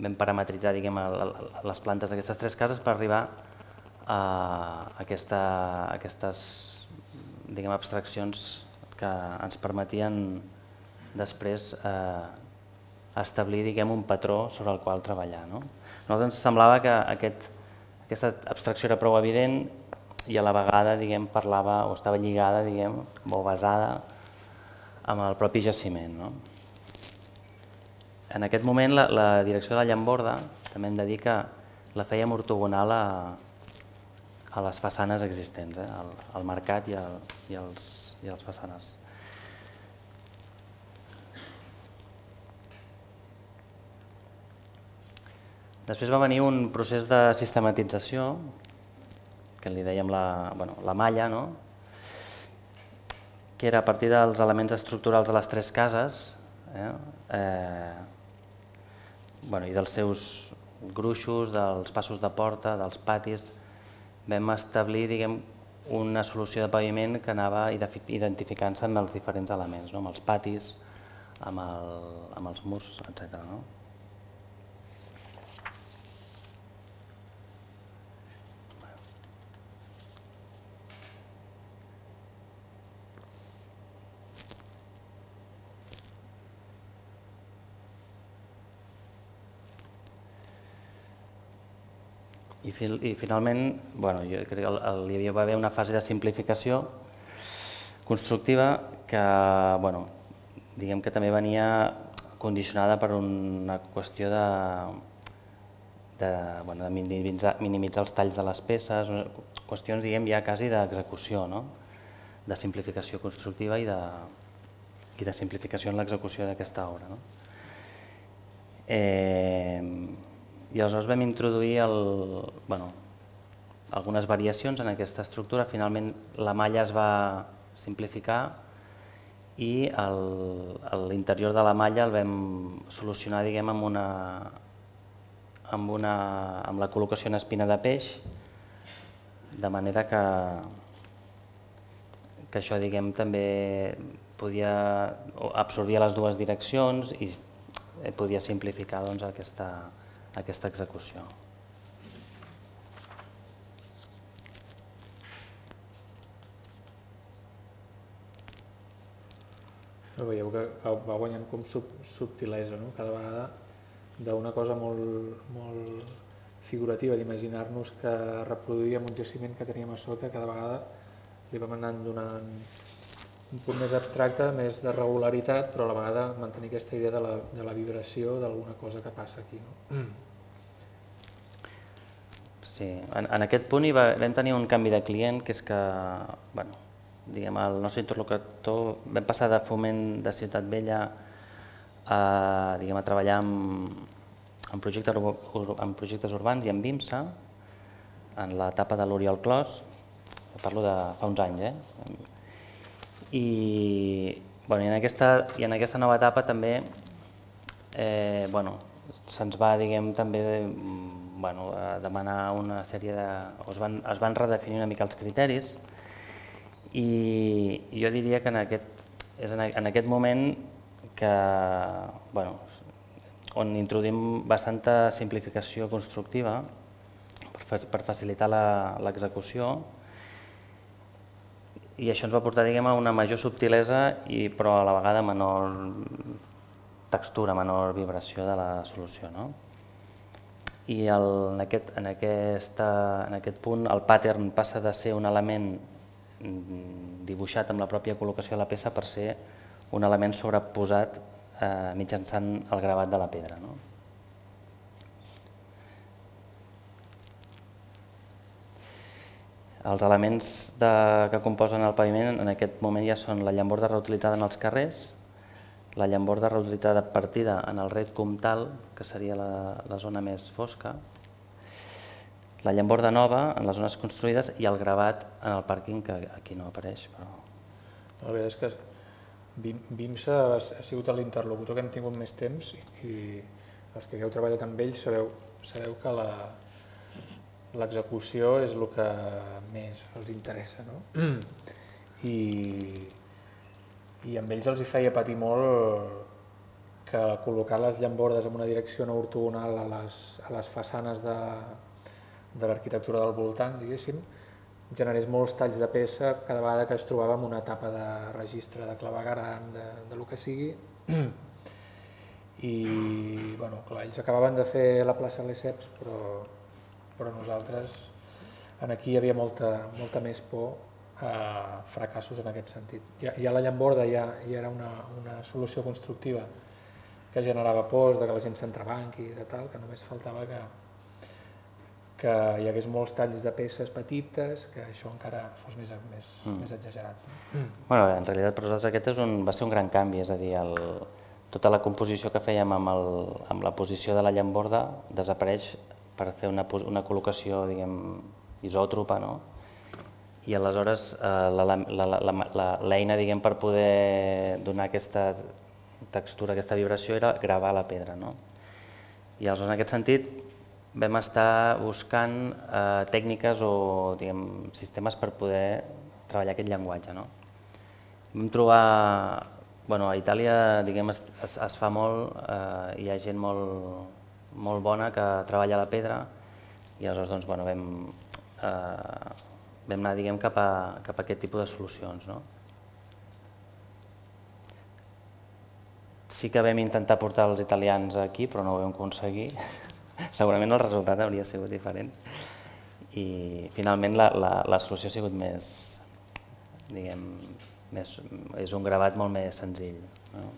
vam parametritzar les plantes d'aquestes tres cases per arribar a aquestes abstraccions que ens permetien després establir un patró sobre el qual treballar. nosaltres ens semblava que aquest, aquesta abstracció era prou evident i a la vegada, diguem, parlava o estava lligada, diguem, o basada amb el propi jaciment, no? En aquest moment, la, la direcció de la llamborda, també hem de dir que la fèiem ortogonal a, a les façanes existents, eh? al, al mercat i, al, i, als, i als façanes. Després va venir un procés de sistematització, que li dèiem la, bueno, la malla, no? Que era a partir dels elements estructurals de les tres cases, eh? Eh, bueno, i dels seus gruixos, dels passos de porta, dels patis, vam establir, diguem, una solució de paviment que anava identificant-se amb els diferents elements, no? Amb els patis, amb, el, amb els murs, etcètera. No? I, fil, I finalment, bueno, jo crec que hi va haver una fase de simplificació constructiva que, bueno, diguem que també venia condicionada per una qüestió de, de, bueno, de minimitzar, minimitzar els talls de les peces, qüestions, diguem, ja quasi d'execució, no? De simplificació constructiva i de, i de simplificació en l'execució d'aquesta obra. No? Eh, I aleshores vam introduir el, bueno, algunes variacions en aquesta estructura. Finalment la malla es va simplificar i l'interior de la malla el vam solucionar, diguem, amb, una, amb, una, amb la col·locació en espina de peix, de manera que, que això, diguem, també podia absorbir les dues direccions i podia simplificar, doncs, aquesta aquesta execució. Veieu que va guanyant com sub, subtilesa, no? Cada vegada d'una cosa molt, molt figurativa, d'imaginar-nos que reproduïem un jaciment que teníem a sota, cada vegada li vam anant donant un punt més abstracte, més de regularitat, però a la vegada mantenir aquesta idea de la, de la vibració d'alguna cosa que passa aquí. No? Sí, en, en aquest punt hi va, vam tenir un canvi de client, que és que, bueno, diguem, el nostre interlocutor vam passar de Foment de Ciutat Vella a, diguem, a treballar amb, en, projectes, en projectes urbans i amb BIMSA, en l'etapa de l'Oriol Clos, parlo de fa uns anys, eh? I, bueno, i, en aquesta, i en aquesta nova etapa també eh, bueno, se'ns va, diguem, també bueno, demanar una sèrie de... Es van, es van redefinir una mica els criteris i jo diria que en aquest, és en, en aquest moment que, bueno, on introduïm bastanta simplificació constructiva per, per facilitar l'execució. I això ens va portar, diguem, a una major subtilesa, i, però a la vegada menor textura, menor vibració de la solució. No? I el, en, aquest, en, aquesta, en aquest punt el pattern passa de ser un element dibuixat amb la pròpia col·locació de la peça per ser un element sobreposat eh, mitjançant el gravat de la pedra. No? Els elements de, que composen el paviment en aquest moment ja són la llamborda reutilitzada en els carrers, la llamborda reutilitzada partida en el ret comtal, que seria la, la zona més fosca, la llamborda nova en les zones construïdes i el gravat en el pàrquing, que aquí no apareix. Però... La veritat és que BIMSA ha sigut l'interlocutor que hem tingut més temps i els que heu treballat amb ells sabeu, sabeu que la l'execució és el que més els interessa, no? I, i amb ells els hi feia patir molt que col·locar les llambordes en una direcció no ortogonal a les, a les façanes de, de l'arquitectura del voltant, diguéssim, generés molts talls de peça cada vegada que es trobava en una etapa de registre de clavegueram, de, de lo que sigui. i bueno, clar, ells acabaven de fer la plaça Lesseps, però, però nosaltres aquí hi havia molta, molta més por a fracassos en aquest sentit. Ja, ja la llamborda ja, ja era una, una solució constructiva que generava pors de que la gent s'entrebanqui i de tal, que només faltava que, que hi hagués molts talls de peces petites, que això encara fos més, més, mm. més exagerat. Bueno, en realitat per nosaltres aquest és un, va ser un gran canvi, és a dir, el, tota la composició que fèiem amb, el, amb la posició de la llamborda desapareix per fer una, una col·locació, diguem, isòtropa, no? I aleshores l'eina, diguem, per poder donar aquesta textura, aquesta vibració, era gravar la pedra, no? I aleshores, en aquest sentit, vam estar buscant eh, tècniques o, diguem, sistemes per poder treballar aquest llenguatge, no? Vam trobar, bueno, a Itàlia, diguem, es, es, es fa molt, eh, hi ha gent molt, molt bona que treballa la pedra i aleshores, doncs, bueno, vam, eh, vam anar, diguem, cap a, cap a aquest tipus de solucions, no? Sí que vam intentar portar els italians aquí, però no ho vam aconseguir. Segurament el resultat hauria sigut diferent. I finalment la, la, la solució ha sigut més, diguem, més, és un gravat molt més senzill, no?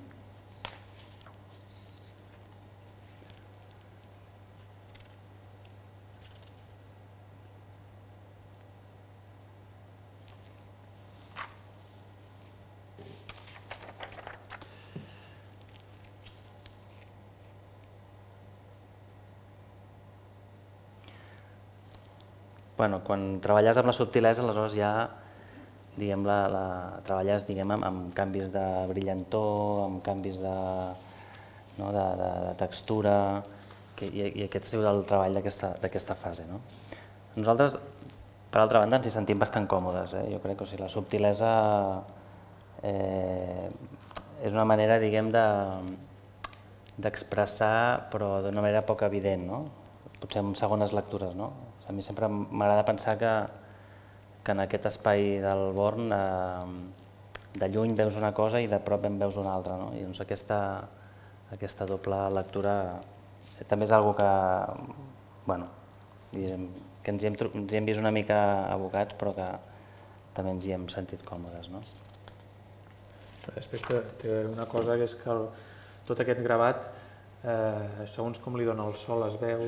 Bueno, quan treballes amb la subtilesa, aleshores ja diguem, la, la, treballes diguem, amb, amb canvis de brillantor, amb canvis de, no, de, de, de textura, que, i, i aquest ha sigut el treball d'aquesta fase. No? Nosaltres, per altra banda, ens hi sentim bastant còmodes. Eh? Jo crec que o sigui, la subtilesa eh, és una manera, diguem, d'expressar, però d'una manera poc evident, no? Potser en segones lectures, no? A mi sempre m'agrada pensar que, que en aquest espai del Born eh, de lluny veus una cosa i de prop en veus una altra, no? I doncs aquesta, aquesta doble lectura també és una cosa que, bueno, que ens hi, hem, ens hi hem vist una mica abocats, però que també ens hi hem sentit còmodes, no? Després té, té una cosa que és que el, tot aquest gravat, eh, segons com li dona el sol, es veu,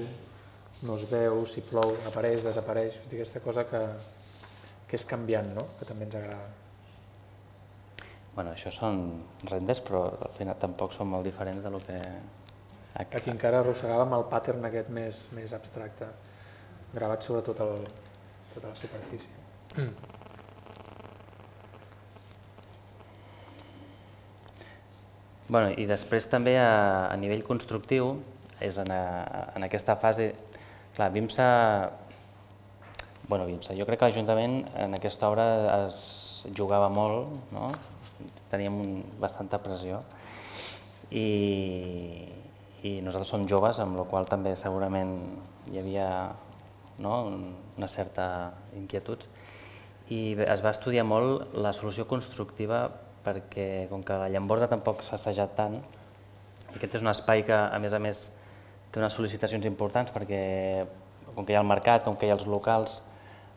no es veu, si plou, apareix, desapareix, aquesta cosa que, que és canviant, no? Que també ens agrada. Bueno, això són renders, però al final tampoc són molt diferents de lo que... Aquí encara arrossegàvem el pattern aquest més, més abstracte, gravat sobre tot el, tota la superfície. Mm. Bueno, i després també a, a nivell constructiu, és en, a, en aquesta fase... Clar, Vimsa, bueno, Vimsa, jo crec que l'Ajuntament en aquesta obra es jugava molt, no? Teníem un, bastanta pressió i, i nosaltres som joves, amb la qual també segurament hi havia, no, una certa inquietud i es va estudiar molt la solució constructiva perquè com que la llamborda tampoc s'ha assajat tant, aquest és un espai que a més a més té unes sol·licitacions importants perquè com que hi ha el mercat, com que hi ha els locals,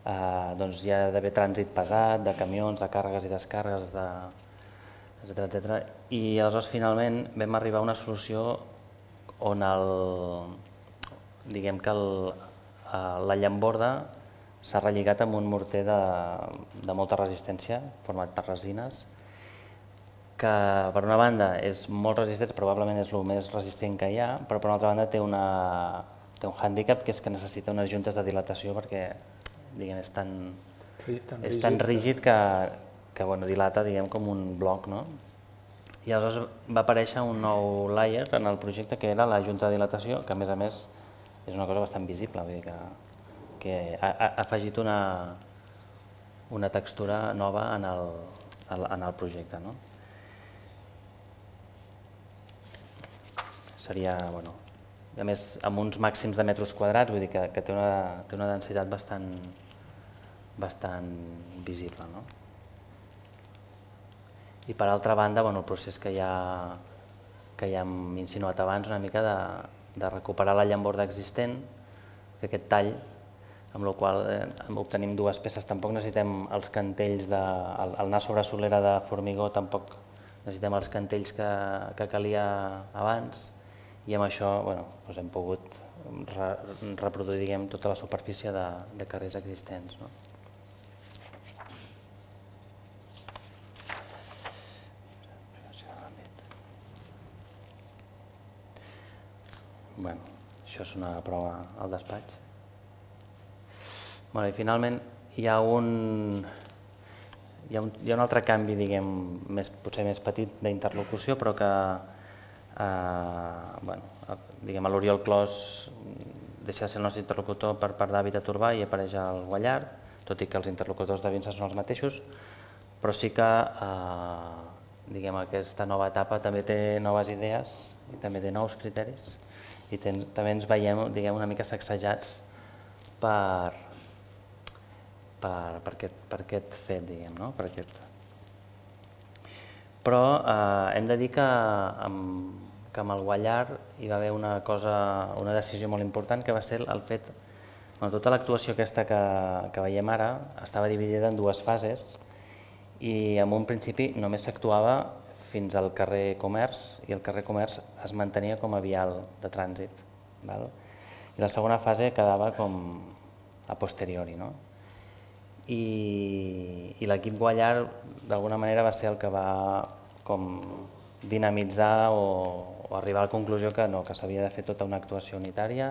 eh, doncs hi ha d'haver trànsit pesat, de camions, de càrregues i descàrregues, de, etcètera, etcètera. I aleshores finalment vam arribar a una solució on el, diguem que el, la llamborda s'ha relligat amb un morter de, de molta resistència, format per resines, que per una banda és molt resistent, probablement és el més resistent que hi ha, però per una altra banda té, una, té un hàndicap que és que necessita unes juntes de dilatació perquè diguem, és tan, és tan rígid que, que bueno, dilata diguem, com un bloc. No? I aleshores va aparèixer un nou layer en el projecte que era la junta de dilatació, que a més a més és una cosa bastant visible, vull dir que, que ha, ha afegit una, una textura nova en el, en el projecte. No? Seria, bueno, a més, amb uns màxims de metres quadrats, vull dir que, que té, una, té una densitat bastant, bastant visible. No? I per altra banda, bueno, el procés que hi ha que ja hem insinuat abans, una mica de, de recuperar la llamborda existent, fer aquest tall, amb la qual eh, obtenim dues peces. Tampoc necessitem els cantells, de, el, el anar sobre solera de formigó, tampoc necessitem els cantells que, que calia abans, i amb això bueno, doncs hem pogut re, reproduir diguem, tota la superfície de, de carrers existents. No? Bueno, això és una prova al despatx. Bueno, i finalment hi ha un, hi ha un, hi ha un altre canvi, diguem, més, potser més petit d'interlocució, però que eh, bueno, diguem, l'Oriol Clos deixa de ser el nostre interlocutor per part d'Hàbitat Urbà i apareix al Guallard, tot i que els interlocutors de Vinça són els mateixos, però sí que eh, diguem, aquesta nova etapa també té noves idees i també té nous criteris i ten, també ens veiem diguem, una mica sacsejats per, per, per, aquest, per aquest fet, diguem, no? Per aquest. Però eh, hem de dir que amb, que amb el Guallard hi va haver una, cosa, una decisió molt important que va ser el fet, bueno, tota l'actuació aquesta que, que veiem ara estava dividida en dues fases i en un principi només s'actuava fins al carrer Comerç i el carrer Comerç es mantenia com a vial de trànsit. Val? I la segona fase quedava com a posteriori. No? I, i l'equip Guallard d'alguna manera va ser el que va com dinamitzar o, o arribar a la conclusió que no, que s'havia de fer tota una actuació unitària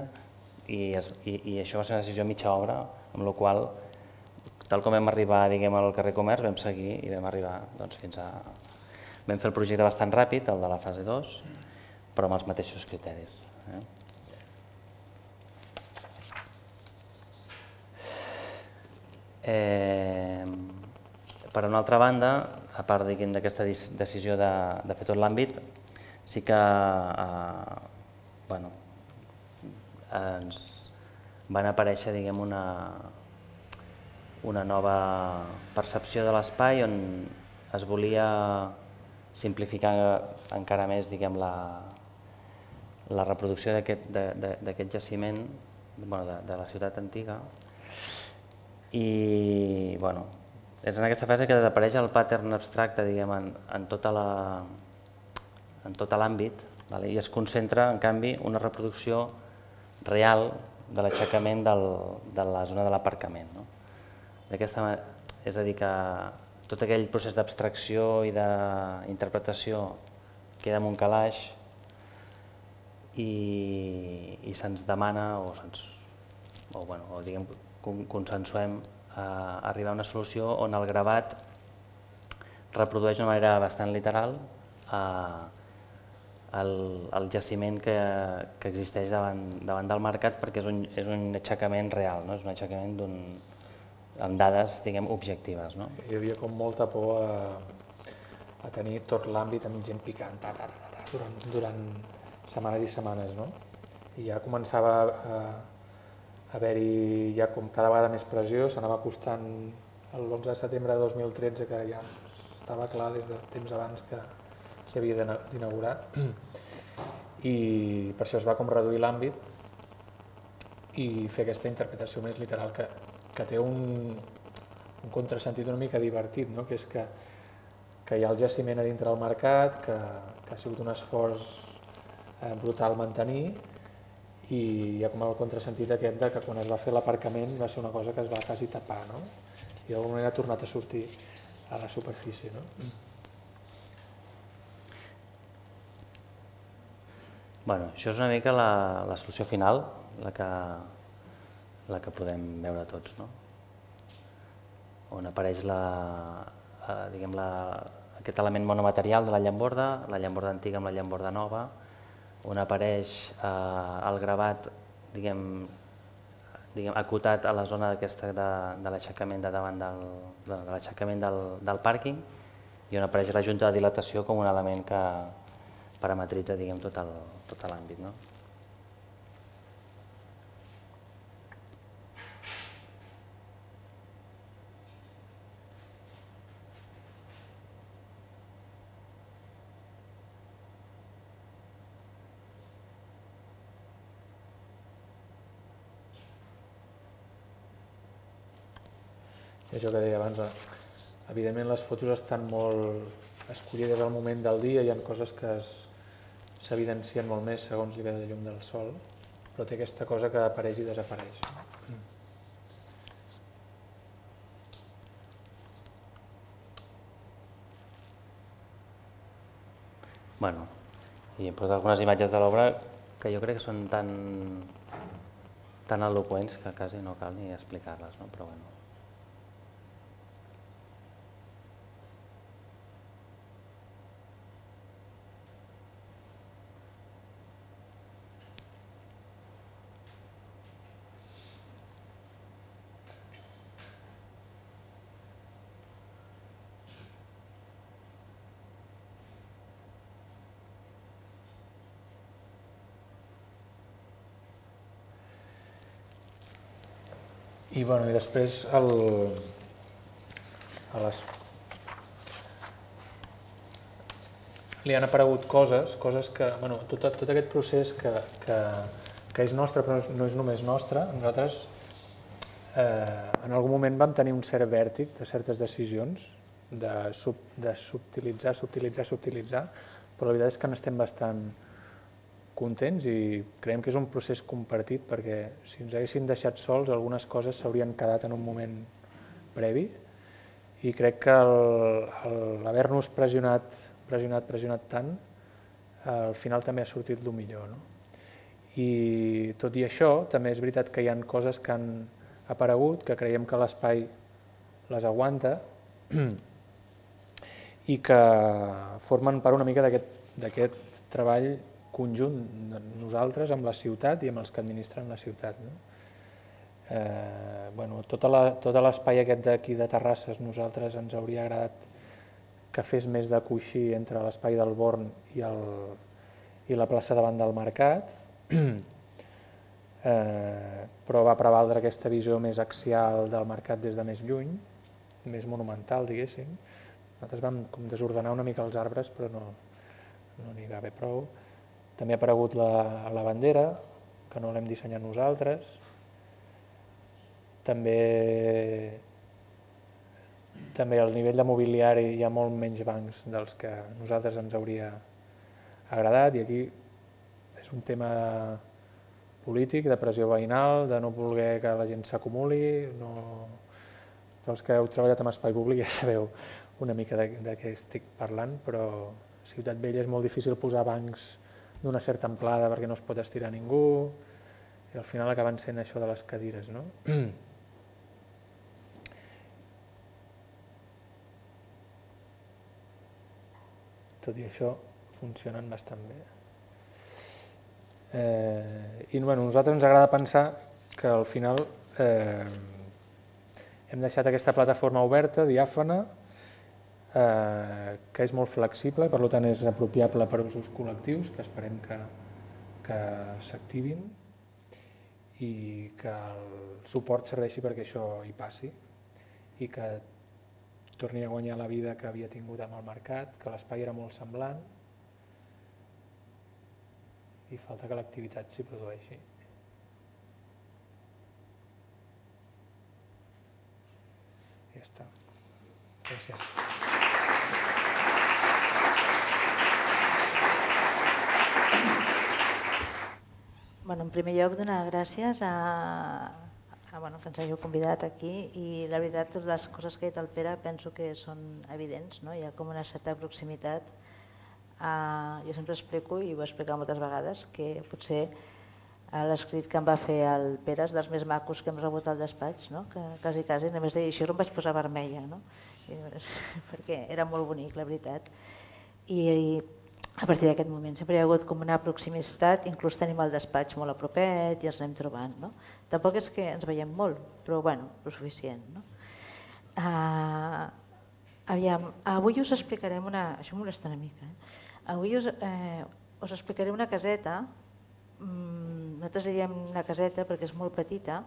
i, es, i, i això va ser una decisió mitja obra, amb la qual tal com vam arribar diguem, al carrer Comerç vam seguir i vam arribar doncs, fins a... Vam fer el projecte bastant ràpid, el de la fase dos, però amb els mateixos criteris. Eh? Eh, per una altra banda, a part d'aquesta decisió de, de fer tot l'àmbit, sí que eh, bueno, ens van aparèixer diguem, una, una nova percepció de l'espai on es volia simplificar encara més diguem, la, la reproducció d'aquest jaciment bueno, de, de la ciutat antiga. I bueno, és en aquesta fase que desapareix el pattern abstracte diguem, en, en tota la, en tot l'àmbit, vale? I es concentra, en canvi, una reproducció real de l'aixecament de la zona de l'aparcament. No? D'aquesta manera, és a dir, que tot aquell procés d'abstracció i d'interpretació queda en un calaix i, i se'ns demana o, se'ns, o, bueno, o diguem, consensuem a arribar a una solució on el gravat reprodueix d'una manera bastant literal eh, el, el jaciment que, que existeix davant, davant del mercat perquè és un, és un aixecament real, no? És un aixecament d'un amb dades, diguem, objectives. No? Hi havia com molta por a, a tenir tot l'àmbit amb gent picant ta, ta, ta, ta, durant, durant setmanes i setmanes. No? I ja començava a haver-hi ja com cada vegada més pressió, s'anava acostant l'onze de setembre de dos mil tretze, que ja estava clar des de temps abans que s'havia d'inaugurar. I per això es va com reduir l'àmbit i fer aquesta interpretació més literal que que té un, un contrasentit una mica divertit, no? Que és que, que hi ha el jaciment a dintre del mercat, que, que ha sigut un esforç eh, brutal mantenir i hi ha com el contrasentit aquest de que quan es va fer l'aparcament va ser una cosa que es va quasi tapar, no? I d'alguna manera ha tornat a sortir a la superfície. No? Bueno, això és una mica la, la solució final, la que la que podem veure tots, no? On apareix la, diguem, la, aquest element monomaterial de la llamborda, la llamborda antiga amb la llamborda nova, on apareix eh, el gravat diguem, diguem, acotat a la zona aquesta de, de l'aixecament de davant del, de, de l'aixecament del, del pàrquing i on apareix la junta de dilatació com un element que parametritza diguem, tot el, tot l'àmbit. No? I això que deia abans, evidentment les fotos estan molt escollides al moment del dia, hi ha coses que s'evidencien molt més segons li ve de llum del sol, però té aquesta cosa que apareix i desapareix. Bueno, i hem posat algunes imatges de l'obra que jo crec que són tan, tan eloqüents que quasi no cal ni explicar-les, no? Però bueno. I, bueno, i després el, a les, li han aparegut coses, coses que, bueno, tot, tot aquest procés que, que, que és nostre però no és només nostre, nosaltres eh, en algun moment vam tenir un cert vèrtic de certes decisions, de, sub, de subtilitzar, subtilitzar, subtilitzar, però la veritat és que n'estem bastant contents i creiem que és un procés compartit perquè si ens haguessin deixat sols algunes coses s'haurien quedat en un moment previ i crec que l'haver-nos pressionat, pressionat, pressionat tant al final també ha sortit el millor. No? I tot i això també és veritat que hi ha coses que han aparegut, que creiem que l'espai les aguanta i que formen part una mica d'aquest treball conjunt de nosaltres amb la ciutat i amb els que administren la ciutat. No? Eh, bueno, tot l'espai aquest d'aquí de Terrasses nosaltres ens hauria agradat que fes més de coixí entre l'espai del Born i, el, i la plaça davant del Mercat, eh, però va prevaldre aquesta visió més axial del Mercat des de més lluny, més monumental, diguéssim. Nosaltres vam com desordenar una mica els arbres, però no no n'hi va haver prou. També ha aparegut la, la bandera, que no l'hem dissenyat nosaltres. També, també al nivell de mobiliari hi ha molt menys bancs dels que a nosaltres ens hauria agradat i aquí és un tema polític, de pressió veïnal, de no voler que la gent s'acumuli. No... Els que heu treballat en espai públic ja sabeu una mica de, de què estic parlant, però a Ciutat Vella és molt difícil posar bancs d'una certa amplada perquè no es pot estirar ningú i al final acaben sent això de les cadires. No? Tot i això funcionen bastant bé. Eh, I bueno, a nosaltres ens agrada pensar que al final eh, hem deixat aquesta plataforma oberta, diàfana, eh, que és molt flexible i per tant és apropiable per usos col·lectius, que esperem que, que s'activin i que el suport serveixi perquè això hi passi i que torni a guanyar la vida que havia tingut amb el mercat, que l'espai era molt semblant i falta que l'activitat s'hi produeixi. Ja està. Gràcies. Bueno, en primer lloc, donar gràcies a, a bueno, que ens hàgiu convidat aquí i la veritat, totes les coses que ha dit el Pere penso que són evidents, no? Hi ha com una certa proximitat. Uh, jo sempre explico, i ho he explicat moltes vegades, que potser uh, l'escrit que em va fer el Pere és dels més macos que hem rebut al despatx, no? Que quasi, quasi, només de dir això em vaig posar vermella, no? I, perquè era molt bonic, la veritat. I, i a partir d'aquest moment sempre hi ha hagut com una proximitat, inclús tenim el despatx molt a propet i ens anem trobant. No? Tampoc és que ens veiem molt, però bueno, el suficient. No? Uh, aviam, avui us explicarem una... Això em molesta una mica. Eh? Avui us, eh, us explicaré una caseta, mm, nosaltres diem una caseta perquè és molt petita,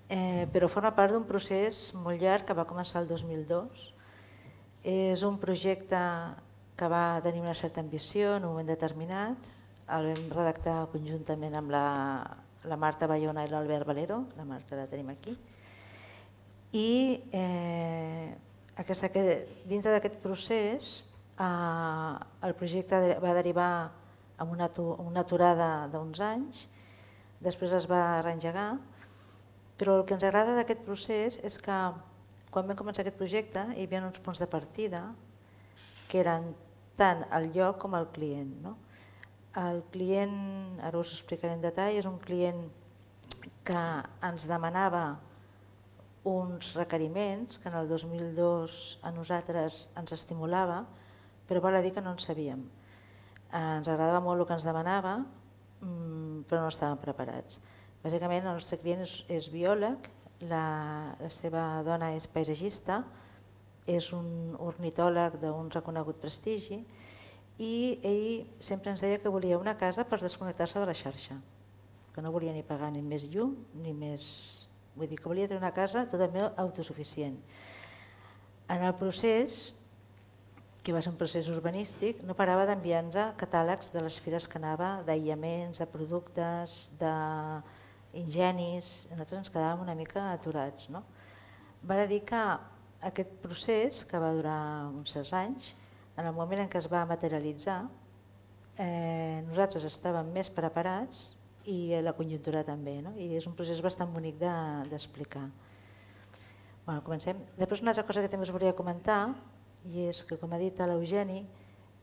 eh, però forma part d'un procés molt llarg que va començar el dos mil dos. És un projecte que va tenir una certa ambició en un moment determinat. El vam redactar conjuntament amb la, la Marta Bayona i l'Albert Valero, la Marta la tenim aquí, I dintre d'aquest procés el projecte va derivar en una aturada d'uns anys, després es va reengegar, però el que ens agrada d'aquest procés és que quan vam començar aquest projecte hi havia uns punts de partida que eren tant el lloc com el client. El client, ara us ho explicaré en detall, és un client que ens demanava uns requeriments que en el dos mil dos a nosaltres ens estimulava, però val a dir que no en sabíem. Ens agradava molt el que ens demanava, però no estàvem preparats. Bàsicament el nostre client és biòleg, la seva dona és paisatgista, és un ornitòleg d'un reconegut prestigi i ell sempre ens deia que volia una casa per desconnectar-se de la xarxa, que no volia ni pagar ni més llum ni més... Vull dir que volia tenir una casa totalment autosuficient. En el procés, que va ser un procés urbanístic, no parava d'enviar-nos catàlegs de les fires que anava, d'aïllaments, de productes, d'enginis. Nosaltres ens quedàvem una mica aturats. Val a dir que aquest procés, que va durar uns certs anys, en el moment en què es va materialitzar, nosaltres estàvem més preparats i la conjuntura també, i és un procés bastant bonic d'explicar. Comencem. Després una altra cosa que també us volia comentar, i és que, com ha dit l'Eugeni,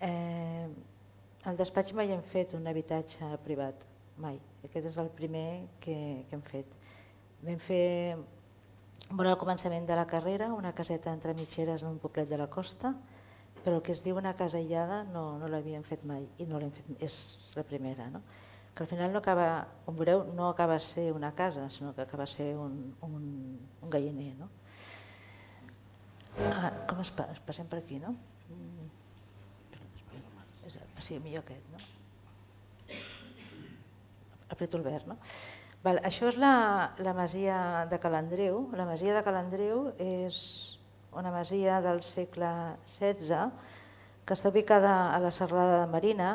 al despatx mai hem fet un habitatge privat, mai. Aquest és el primer que hem fet. Vam fer, molt al començament de la carrera, una caseta entre mitgeres en un poblet de la costa, però el que es diu una casa aïllada no l'havíem fet mai, i no l'hem fet, és la primera. Que al final no acaba, com veureu, no acaba ser una casa, sinó que acaba ser un galliner. Com es passem per aquí, no? Sí, millor aquest, no? Apreto el verd, no? Això és la masia de Ca l'Andreu. La masia de Ca l'Andreu és una masia del segle setze que està ubicada a la serralada de Marina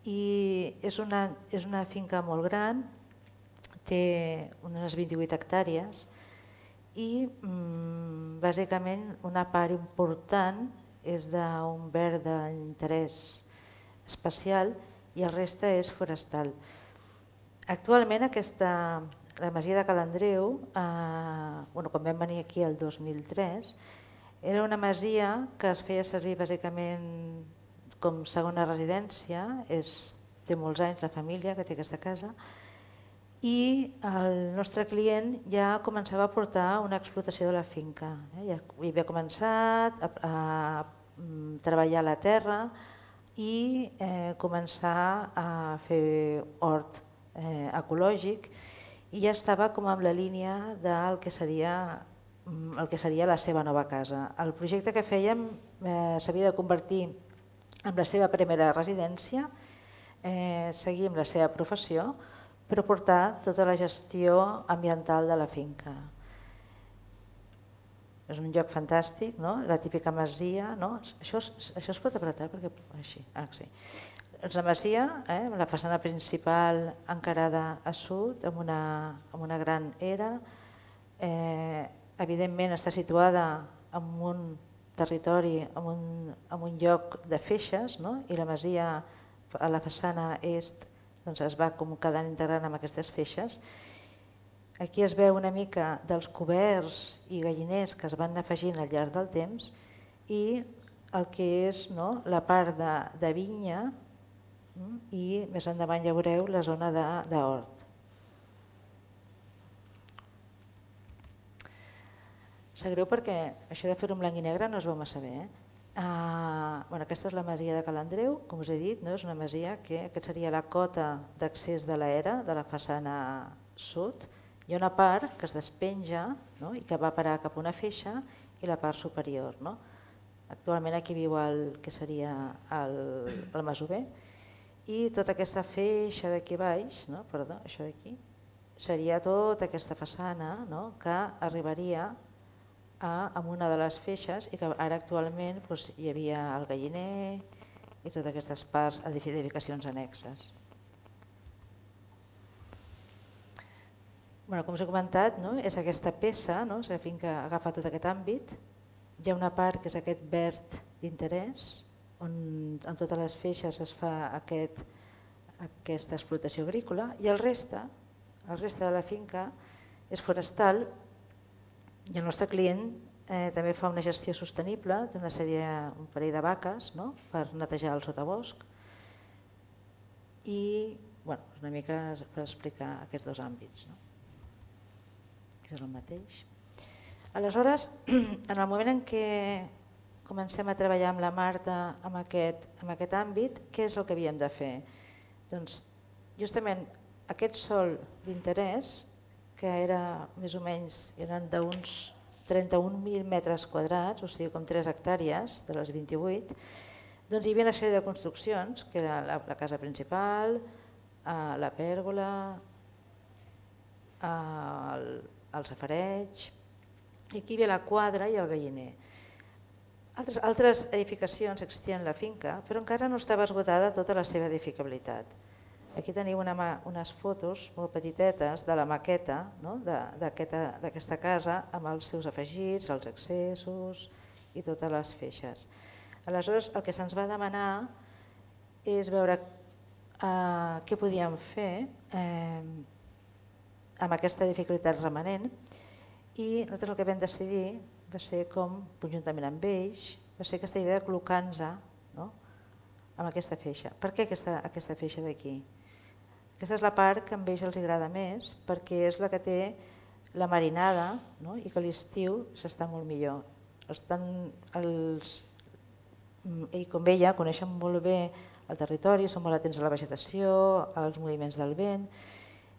i és una finca molt gran, té unes vint-i-vuit hectàrees i bàsicament una part important és d'un verd d'interès especial i el reste és forestal. Actualment la masia de Ca l'Andreu, quan vam venir aquí el dos mil tres, era una masia que es feia servir bàsicament com segona residència, té molts anys la família que té aquesta casa, i el nostre client ja començava a portar una explotació de la finca. Ja havia començat a treballar la terra i començar a fer hort ecològic i ja estava com en la línia del que seria el que seria la seva nova casa. El projecte que fèiem s'havia de convertir en la seva primera residència, seguir amb la seva professió, però portar tota la gestió ambiental de la finca. És un lloc fantàstic, la típica masia. Això es pot apretar perquè així. És la masia, la façana principal encarada a sud, amb una gran era. Evidentment està situada en un territori, en un lloc de feixes, i la masia a la façana est es va quedant integrant amb aquestes feixes. Aquí es veu una mica dels coberts i galliners que es van afegint al llarg del temps i el que és la part de vinya i més endavant ja veureu la zona d'hort. Sap greu perquè això de fer-ho en blanc i negre no es veu massa bé. Aquesta és la masia de Ca l'Andreu, com us he dit, és una masia que aquesta seria la cota d'accés de l'era de la façana sud. Hi ha una part que es despenja i que va parar cap a una feixa i la part superior. Actualment aquí viu el que seria el masover i tota aquesta feixa d'aquí baix, perdó, això d'aquí, seria tota aquesta façana que arribaria a una de les feixes i que ara actualment hi havia el galliner i totes aquestes parts d'edificacions annexes. Com us he comentat, és aquesta peça, és la finca agafa tot aquest àmbit. Hi ha una part que és aquest verd d'interès, on en totes les feixes es fa aquesta explotació agrícola, i el reste, el reste de la finca és forestal, i el nostre client també fa una gestió sostenible d'una sèrie, un parell de vaques per netejar el sotabosc, i una mica per explicar aquests dos àmbits. És el mateix. Aleshores, en el moment en què comencem a treballar amb la Marta en aquest àmbit, què és el que havíem de fer? Doncs justament aquest sòl d'interès, que era més o menys d'uns trenta-un mil metres quadrats, o sigui com tres hectàrees de les vint-i-vuit, doncs hi havia una sèrie de construccions, que era la casa principal, la pèrgola, el safareig, i aquí hi havia la quadra i el galliner. Altres edificacions existien a la finca, però encara no estava esgotada tota la seva edificabilitat. Aquí teniu unes fotos molt petitetes de la maqueta d'aquesta casa amb els seus afegits, els accessos i totes les feixes. Aleshores, el que se'ns va demanar és veure què podíem fer amb aquesta dificultat remanent, i nosaltres el que vam decidir va ser com, conjuntament amb ells, va ser aquesta idea de col·locar-nos amb aquesta feixa. Per què aquesta feixa d'aquí? Aquesta és la part que a ells els agrada més, perquè és la que té la marinada i que a l'estiu s'està molt millor. Ell com ella coneixen molt bé el territori, són molt atents a la vegetació, als moviments del vent.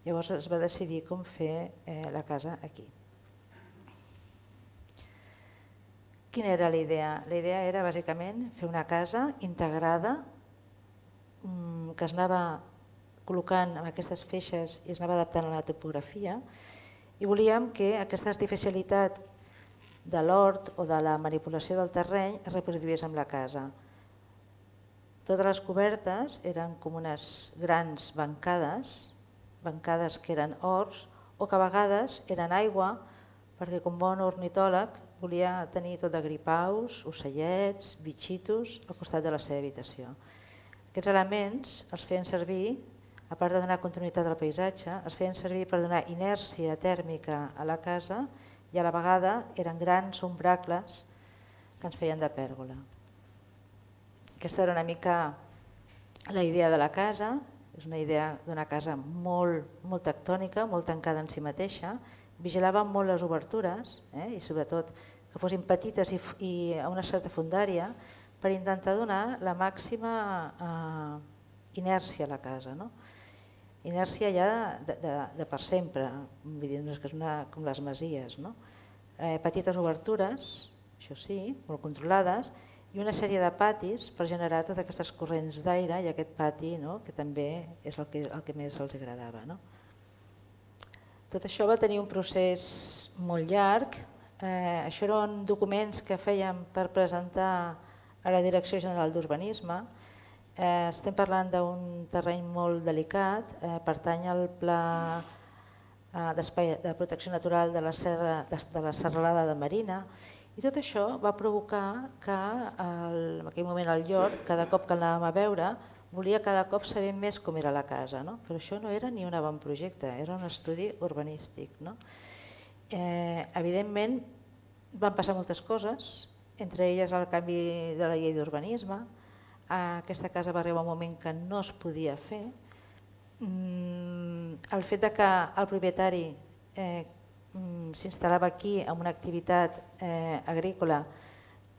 Llavors es va decidir com fer la casa aquí. Quina era la idea? La idea era bàsicament fer una casa integrada que es anava col·locant amb aquestes feixes i es anava adaptant a la topografia, i volíem que aquesta artificialitat de l'hort o de la manipulació del terreny es reproduís amb la casa. Totes les cobertes eren com unes grans bancades, bancades que eren horts o que a vegades eren aigua, perquè com bon ornitòleg volia tenir tot de gripaus, ocellets, bitxitos al costat de la seva habitació. Aquests elements els feien servir, a part de donar continuïtat al paisatge, es feien servir per donar inèrcia tèrmica a la casa i a la vegada eren grans ombracles que ens feien de pèrgola. Aquesta era una mica la idea de la casa, és una idea d'una casa molt tectònica, molt tancada en si mateixa. Vigilàvem molt les obertures i sobretot que fossin petites i a una certa fondària per intentar donar la màxima inèrcia a la casa. Inèrcia ja de per sempre, com les masies. Petites obertures, això sí, molt controlades, i una sèrie de patis per generar totes aquestes corrents d'aire i aquest pati que també és el que més els agradava. Tot això va tenir un procés molt llarg. Això eren documents que fèiem per presentar a la Direcció General d'Urbanisme. Estem parlant d'un terreny molt delicat, pertany al Pla de Protecció Natural de la Serralada de Marina, i tot això va provocar que en aquell moment el Llort, cada cop que l'anàvem a veure, volia cada cop saber més com era la casa, però això no era ni un avantprojecte, era un estudi urbanístic. Evidentment van passar moltes coses, entre elles el canvi de la llei d'urbanisme. Aquesta casa va arribar un moment que no es podia fer. El fet que el propietari s'instal·lava aquí amb una activitat agrícola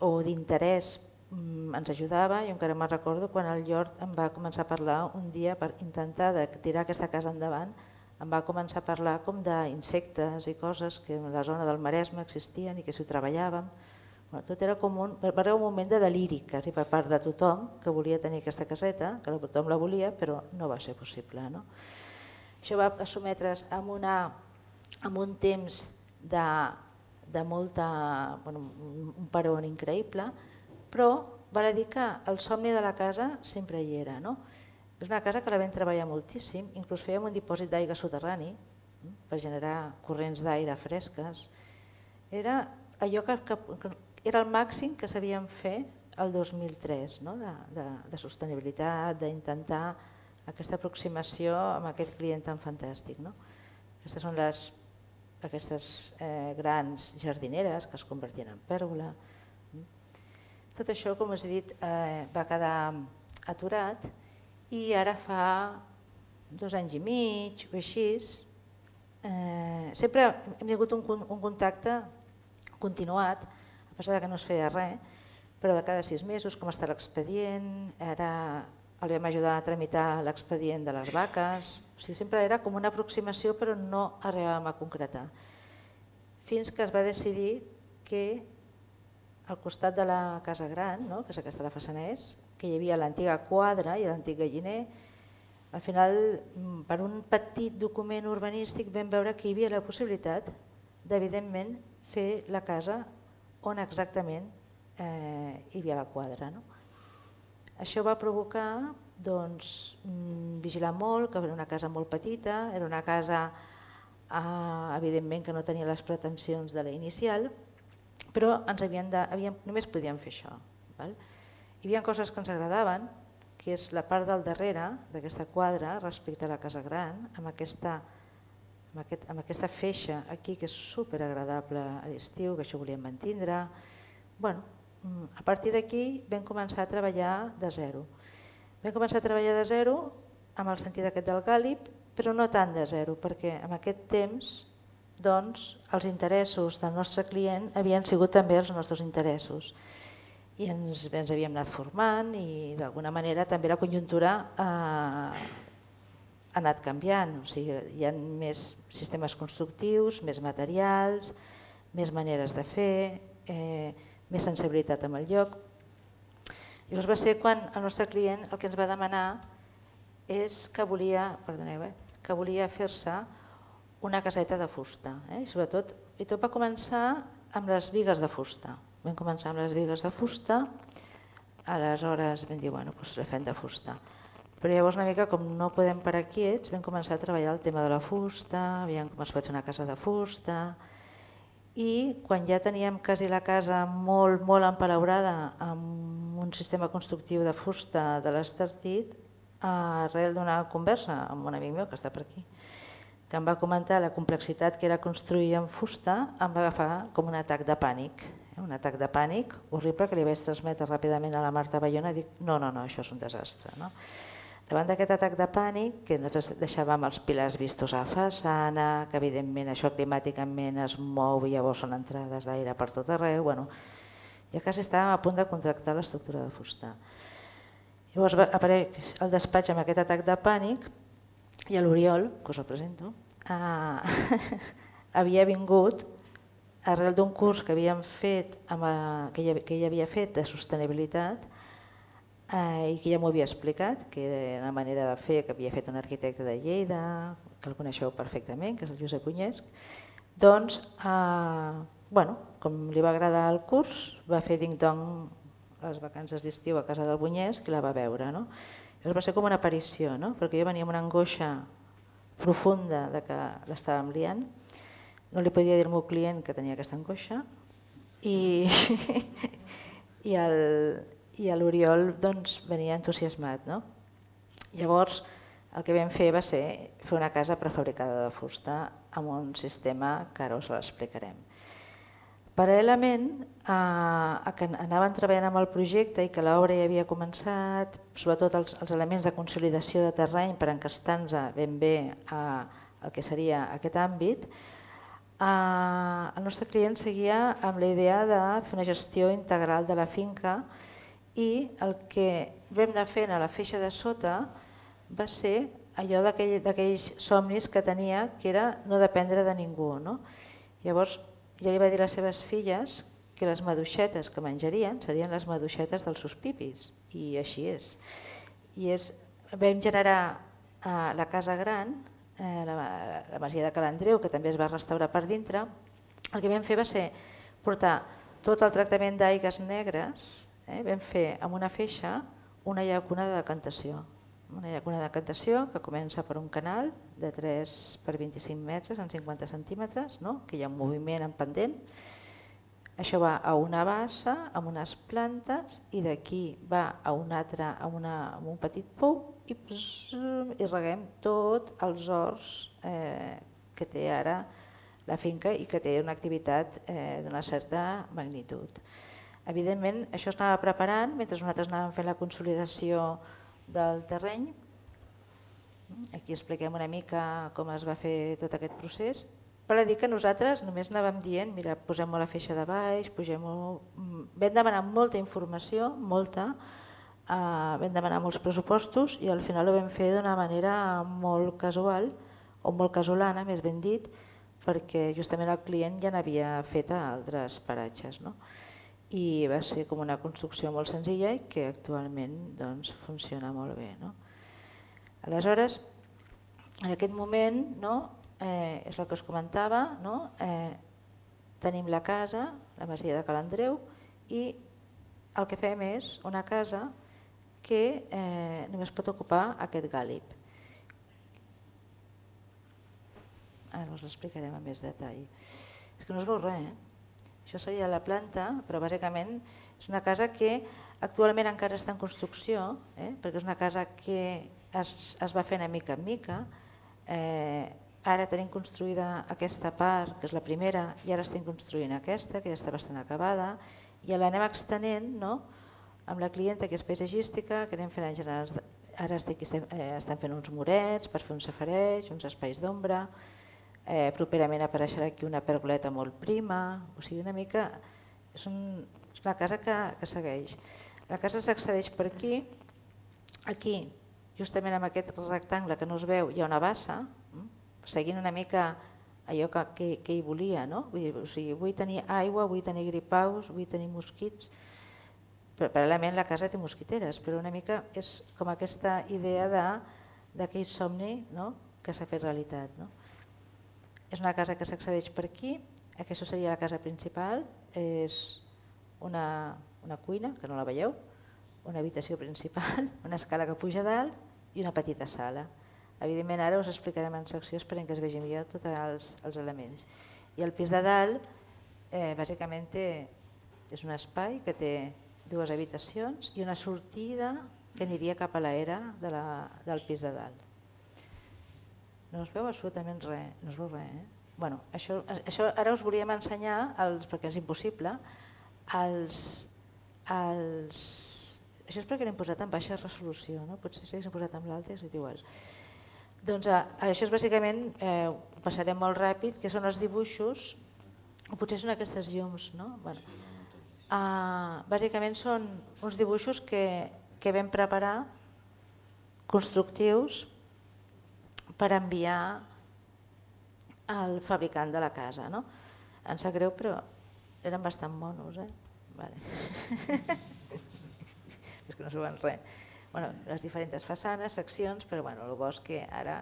o d'interès ens ajudava. Jo encara me'n recordo quan el Llort em va començar a parlar un dia per intentar tirar aquesta casa endavant, em va començar a parlar com d'insectes i coses que en la zona del Maresme existien i que si ho treballàvem. Tot era com un, va haver un moment de deliri quasi per part de tothom que volia tenir aquesta caseta, que tothom la volia però no va ser possible. Això va sotmetre's amb un temps de molta, un peron increïble, però val a dir que el somni de la casa sempre hi era. És una casa que la vam treballar moltíssim, inclús fèiem un dipòsit d'aigua soterrani, per generar corrents d'aire fresques. Era allò que, que, que era el màxim que sabíem fer el dos mil tres, no? de, de, de sostenibilitat, d'intentar aquesta aproximació amb aquest client tan fantàstic. No? Aquestes són les, aquestes eh, grans jardineres que es convertien en pèrgola. Tot això, com us he dit, eh, va quedar aturat i ara fa dos anys i mig o així, eh, sempre hem tingut un, un contacte continuat, a pesar que no es feia res, però de cada sis mesos, com està l'expedient, ara el vam ajudar a tramitar l'expedient de les vaques, o sigui, sempre era com una aproximació però no arribàvem a concretar. Fins que es va decidir que al costat de la Casa Gran, no? que és aquesta la façana és, que hi havia l'antiga quadra i l'antic galliner, al final, per un petit document urbanístic vam veure que hi havia la possibilitat d'evidentment fer la casa on exactament eh, hi havia la quadra. No? Això va provocar doncs, vigilar molt, que era una casa molt petita, era una casa eh, evidentment que no tenia les pretensions de la inicial, però ens havien de, havíem, només podíem fer això. Val? Hi havia coses que ens agradaven, que és la part del darrere d'aquesta quadra respecte a la Casa Gran, amb aquesta, amb aquest, amb aquesta feixa aquí que és superagradable a l'estiu, que això volíem mantindre. Bueno, a partir d'aquí vam començar a treballar de zero. Vam començar a treballar de zero amb el sentit aquest del Gàlib, però no tant de zero, perquè en aquest temps doncs, els interessos del nostre client havien sigut també els nostres interessos. I ens, ens havíem anat formant i d'alguna manera també la conjuntura eh, ha anat canviant. O sigui, hi ha més sistemes constructius, més materials, més maneres de fer, eh, més sensibilitat amb el lloc. Llavors va ser quan el nostre client el que ens va demanar és que volia, perdoneu, eh, que volia fer-se una caseta de fusta. Eh? I, sobretot, i tot va començar amb les bigues de fusta. Vam començar amb les bigues de fusta, aleshores vam dir, bueno, doncs la fem de fusta. Però llavors una mica com no podem parar quiets, vam començar a treballar el tema de la fusta, havíem començat a fer una casa de fusta, i quan ja teníem quasi la casa molt, molt empalaurada amb un sistema constructiu de fusta de l'Estartit, arrel d'una conversa amb un amic meu que està per aquí, que em va comentar la complexitat que era construir amb fusta, em va agafar com un atac de pànic. Un atac de pànic horrible que li vaig transmetre ràpidament a la Marta Bayona i dic, no, no, no, això és un desastre. No? Davant d'aquest atac de pànic, que nosaltres deixàvem els pilars vistos a la façana, que evidentment això climàticament es mou i llavors són entrades d'aire per tot arreu, bueno, ja quasi estàvem a punt de contractar l'estructura de fusta. Llavors apareix el despatx amb aquest atac de pànic i l'Oriol, que us el presento, eh, havia vingut arrel d'un curs que havíem fet, amb, que, ell, que ell havia fet de sostenibilitat eh, i que ja m'ho havia explicat, que era una manera de fer que havia fet un arquitecte de Lleida, que el coneixeu perfectament, que és el Josep Unyesc. Doncs, eh, bueno, com li va agradar el curs, va fer ding-dong les vacances d'estiu a casa del Bunyesc i la va veure. No? Llavors va ser com una aparició, no? Perquè jo venia amb una angoixa profunda de que l'estàvem liant. No li podia dir al meu client que tenia aquesta angoixa i, i l'Oriol doncs, venia entusiasmat. No? Llavors el que vam fer va ser fer una casa prefabricada de fusta amb un sistema que ara us l'explicarem. Paral·lelament a que anaven treballant amb el projecte i que l'obra ja havia començat, sobretot els, els elements de consolidació de terreny per encastar-nos ben bé al que seria aquest àmbit, el nostre client seguia amb la idea de fer una gestió integral de la finca i el que vam anar fent a la feixa de sota va ser allò d'aquells somnis que tenia, que era no dependre de ningú. No? Llavors, ja li va dir a les seves filles que les maduixetes que menjarien serien les maduixetes dels seus pipis, i així és. I és, vam generar eh, la Casa Gran, eh, la, la masia de Cal Andreu, que també es va restaurar per dintre. El que vam fer va ser portar tot el tractament d'aigues negres, eh, vam fer amb una feixa una llacuna de decantació. Hi ha una decantació que comença per un canal de tres per vint-i-cinc metres en cinquanta centímetres, que hi ha un moviment en pendent. Això va a una bassa amb unes plantes i d'aquí va a un altre, a un petit pou i reguem tots els horts que té ara la finca i que té una activitat d'una certa magnitud. Evidentment, això es anava preparant mentre nosaltres anàvem fent la consolidació del terreny. Aquí expliquem una mica com es va fer tot aquest procés. Per dir que nosaltres només anàvem dient, mira, posem-ho a la feixa de baix, posem-ho... Vam demanar molta informació, molta, vam demanar molts pressupostos i al final ho vam fer d'una manera molt casual, o molt casolana, més ben dit, perquè justament el client ja n'havia fet a altres paratges. I va ser com una construcció molt senzilla i que actualment funciona molt bé. Aleshores, en aquest moment, és el que us comentava, tenim la casa, la masia de Cal Andreu, i el que fem és una casa que només pot ocupar aquest gàlib. Ara us l'explicarem amb més detall. És que no es veu res, eh? Això seria la planta, però bàsicament és una casa que actualment encara està en construcció, perquè és una casa que es va fent a mica en mica. Ara tenim construïda aquesta part, que és la primera, i ara estem construint aquesta, que ja està bastant acabada, i l'anem extenent amb la clienta, que és paisatgística, que anem fent en general. Ara estem fent uns murets per fer un safareig, uns espais d'ombra. Properament apareixerà aquí una pergoleta molt prima, o sigui, una mica... És una casa que segueix. La casa s'accedeix per aquí. Aquí, justament amb aquest rectangle que no es veu, hi ha una bassa, seguint una mica allò que hi volia. Vull tenir aigua, vull tenir gripaus, vull tenir mosquits. Paral·lelament la casa té mosquiteres, però una mica és com aquesta idea d'aquell somni que s'ha fet realitat. És una casa que s'accedeix per aquí, aquesta seria la casa principal, és una cuina, que no la veieu, una habitació principal, una escala que puja dalt i una petita sala. Evidentment ara us explicarem en secció, esperem que es vegi millor tots els elements. I el pis de dalt, bàsicament és un espai que té dues habitacions i una sortida que aniria cap a l'era del pis de dalt. No es veu absolutament res, no es veu res. Bueno, això ara us volíem ensenyar, perquè és impossible, els... Això és perquè l'hem posat en baixa resolució, potser si l'hem posat en l'alta és igual. Doncs això és bàsicament, ho passarem molt ràpid, que són els dibuixos, potser són aquestes llums, no? Bàsicament són uns dibuixos que vam preparar constructius per enviar al fabricant de la casa. Em sap greu, però eren bastant monos. És que no s'ho van res. Les diferents façanes, seccions, però el bo és que ara...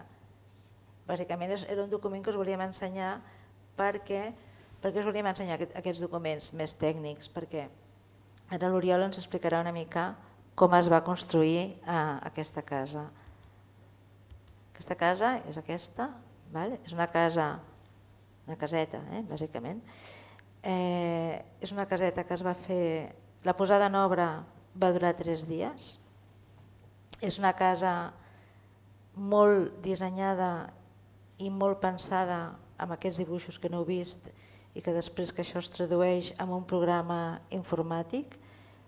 Bàsicament era un document que us volíem ensenyar perquè us volíem ensenyar aquests documents més tècnics, perquè ara l'Oriol ens explicarà una mica com es va construir aquesta casa. Aquesta casa és aquesta, és una casa, una caseta, bàsicament. És una caseta que es va fer, la posada en obra va durar tres dies. És una casa molt dissenyada i molt pensada amb aquests dibuixos que no heu vist i que després que això es tradueix en un programa informàtic.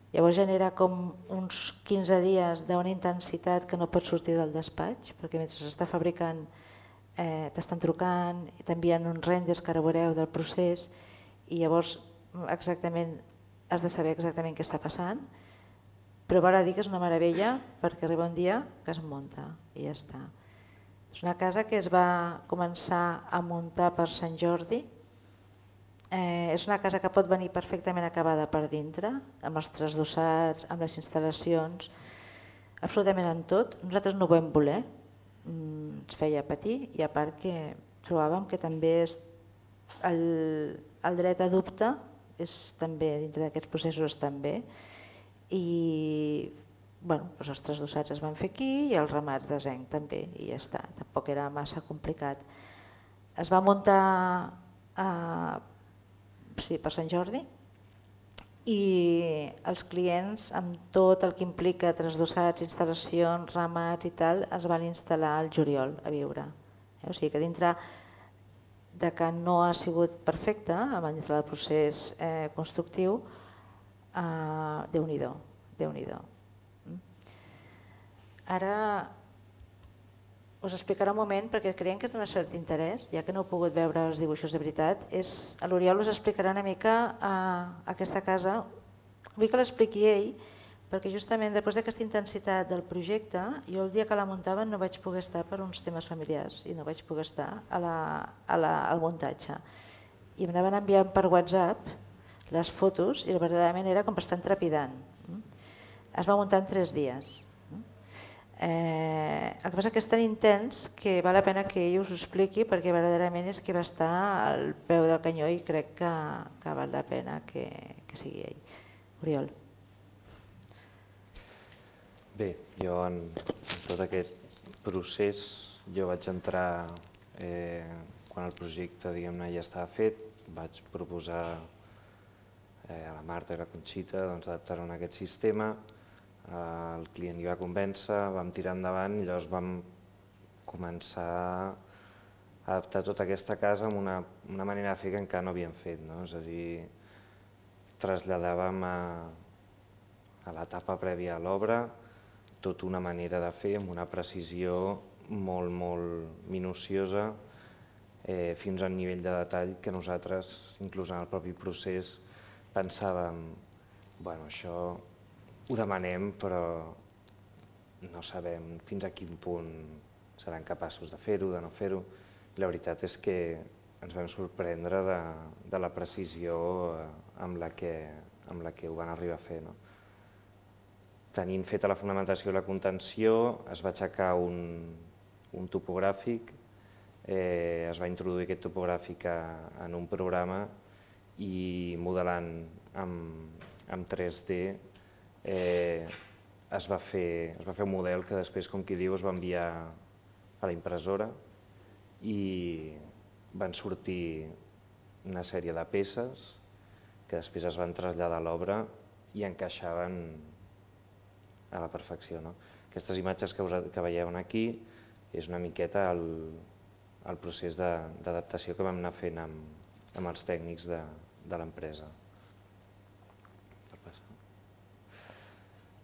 Llavors genera com uns quinze dies d'una intensitat que no pots sortir del despatx, perquè mentre s'està fabricant t'estan trucant i t'envien uns renders que ara veureu del procés i llavors exactament has de saber exactament què està passant, però val a dir que és una meravella perquè arriba un dia que es munta i ja està. És una casa que es va començar a muntar per Sant Jordi. És una casa que pot venir perfectament acabada per dintre, amb els trasdossats, amb les instal·lacions, absolutament amb tot. Nosaltres no ho vam voler, ens feia patir i a part que trobàvem que també el dret a dubte és també dintre d'aquests processos també i bueno, doncs els trasdossats es van fer aquí i els ramats de zenc també, i ja està, tampoc era massa complicat. Es va muntar eh, sí, per Sant Jordi i els clients, amb tot el que implica trasdossats, instal·lacions, ramats i tal, es van instal·lar al juliol a viure. O sigui que dintre de que no ha sigut perfecte, dintre del procés eh, constructiu, eh, Déu-n'hi-do, Déu-n'hi-do. Ara us explicaré un moment, perquè creiem que és d'un cert interès, ja que no heu pogut veure els dibuixos de veritat. L'Oriol us explicarà una mica aquesta casa. Vull que l'expliqui ell, perquè justament després d'aquesta intensitat del projecte, jo el dia que la muntaven no vaig poder estar per uns temes familiars i no vaig poder estar a la, a la, al muntatge. I m'anaven enviant per WhatsApp les fotos i verdaderament era com bastant trepidant. Es va muntar en tres dies. Eh, el que passa que és tan intens que val la pena que ell us ho expliqui, perquè verdaderament és que va estar al peu del canyó i crec que, que val la pena que, que sigui ell. Oriol. Bé, jo en, en tot aquest procés jo vaig entrar eh, quan el projecte diguem-ne ja estava fet, vaig proposar eh, a la Marta i la Conxita doncs, adaptar-ho a aquest sistema. El client hi va convèncer, vam tirar endavant i llavors vam començar a adaptar tota aquesta casa amb una, una manera de fer que encara no havíem fet. No? És a dir, traslladàvem a, a l'etapa prèvia a l'obra tota una manera de fer amb una precisió molt, molt minuciosa eh, fins al nivell de detall que nosaltres, inclús en el propi procés, pensàvem, bueno, això ho demanem, però no sabem fins a quin punt seran capaços de fer-ho, de no fer-ho. La veritat és que ens vam sorprendre de, de la precisió amb la, que, amb la que ho van arribar a fer. No? Tenint feta la fonamentació i la contenció, es va aixecar un, un topogràfic, eh, es va introduir aquest topogràfic a, en un programa i modelant amb, amb tres D Eh, es, va fer, es va fer un model que després, com qui diu, es va enviar a la impressora i van sortir una sèrie de peces que després es van traslladar a l'obra i encaixaven a la perfecció. No? Aquestes imatges que, us, que veieu aquí és una miqueta el, el procés d'adaptació que vam anar fent amb, amb els tècnics de, de l'empresa.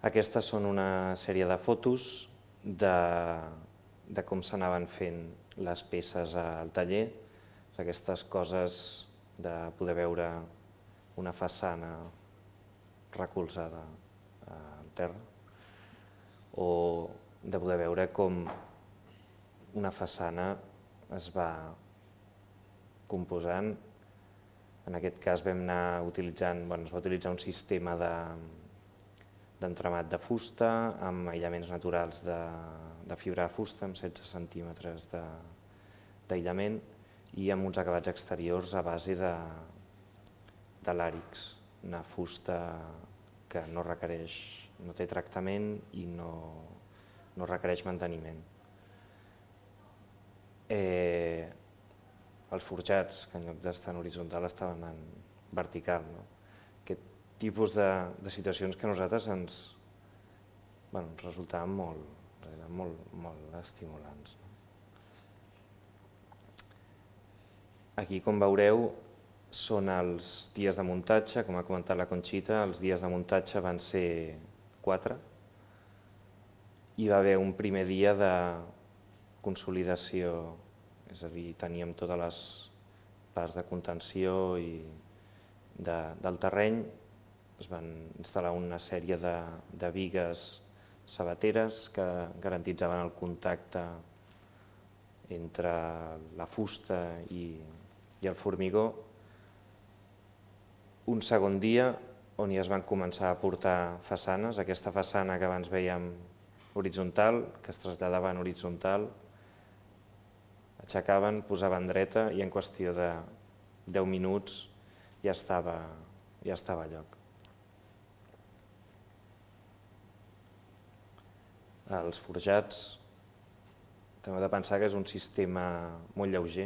Aquestes són una sèrie de fotos de, de com s'anaven fent les peces al taller, aquestes coses de poder veure una façana recolzada al terra o de poder veure com una façana es va composant. En aquest cas vam anar utilitzant, bueno, es va utilitzar un sistema de d'entramat de fusta, amb aïllaments naturals de, de fibra de fusta, amb setze centímetres d'aïllament i amb uns acabats exteriors a base de, de làrix, una fusta que no requereix, no té tractament i no, no requereix manteniment. Eh, els forjats, que en lloc d'estar en horitzontal estaven en vertical. No? Aquest tipus de, de situacions que a nosaltres ens, bueno, ens resultaven molt, molt, molt estimulants. Aquí, com veureu, són els dies de muntatge, com ha comentat la Conxita, els dies de muntatge van ser quatre. Hi va haver un primer dia de consolidació, és a dir, teníem totes les parts de contenció i de, del terreny. Es van instal·lar una sèrie de, de bigues sabateres que garantitzaven el contacte entre la fusta i, i el formigó. Un segon dia on ja es van començar a portar façanes, aquesta façana que abans vèiem horitzontal, que es traslladava en horitzontal, aixecaven, posaven dreta i en qüestió de deu minuts ja estava, ja estava a lloc. Els forjats, també heu de pensar que és un sistema molt lleuger,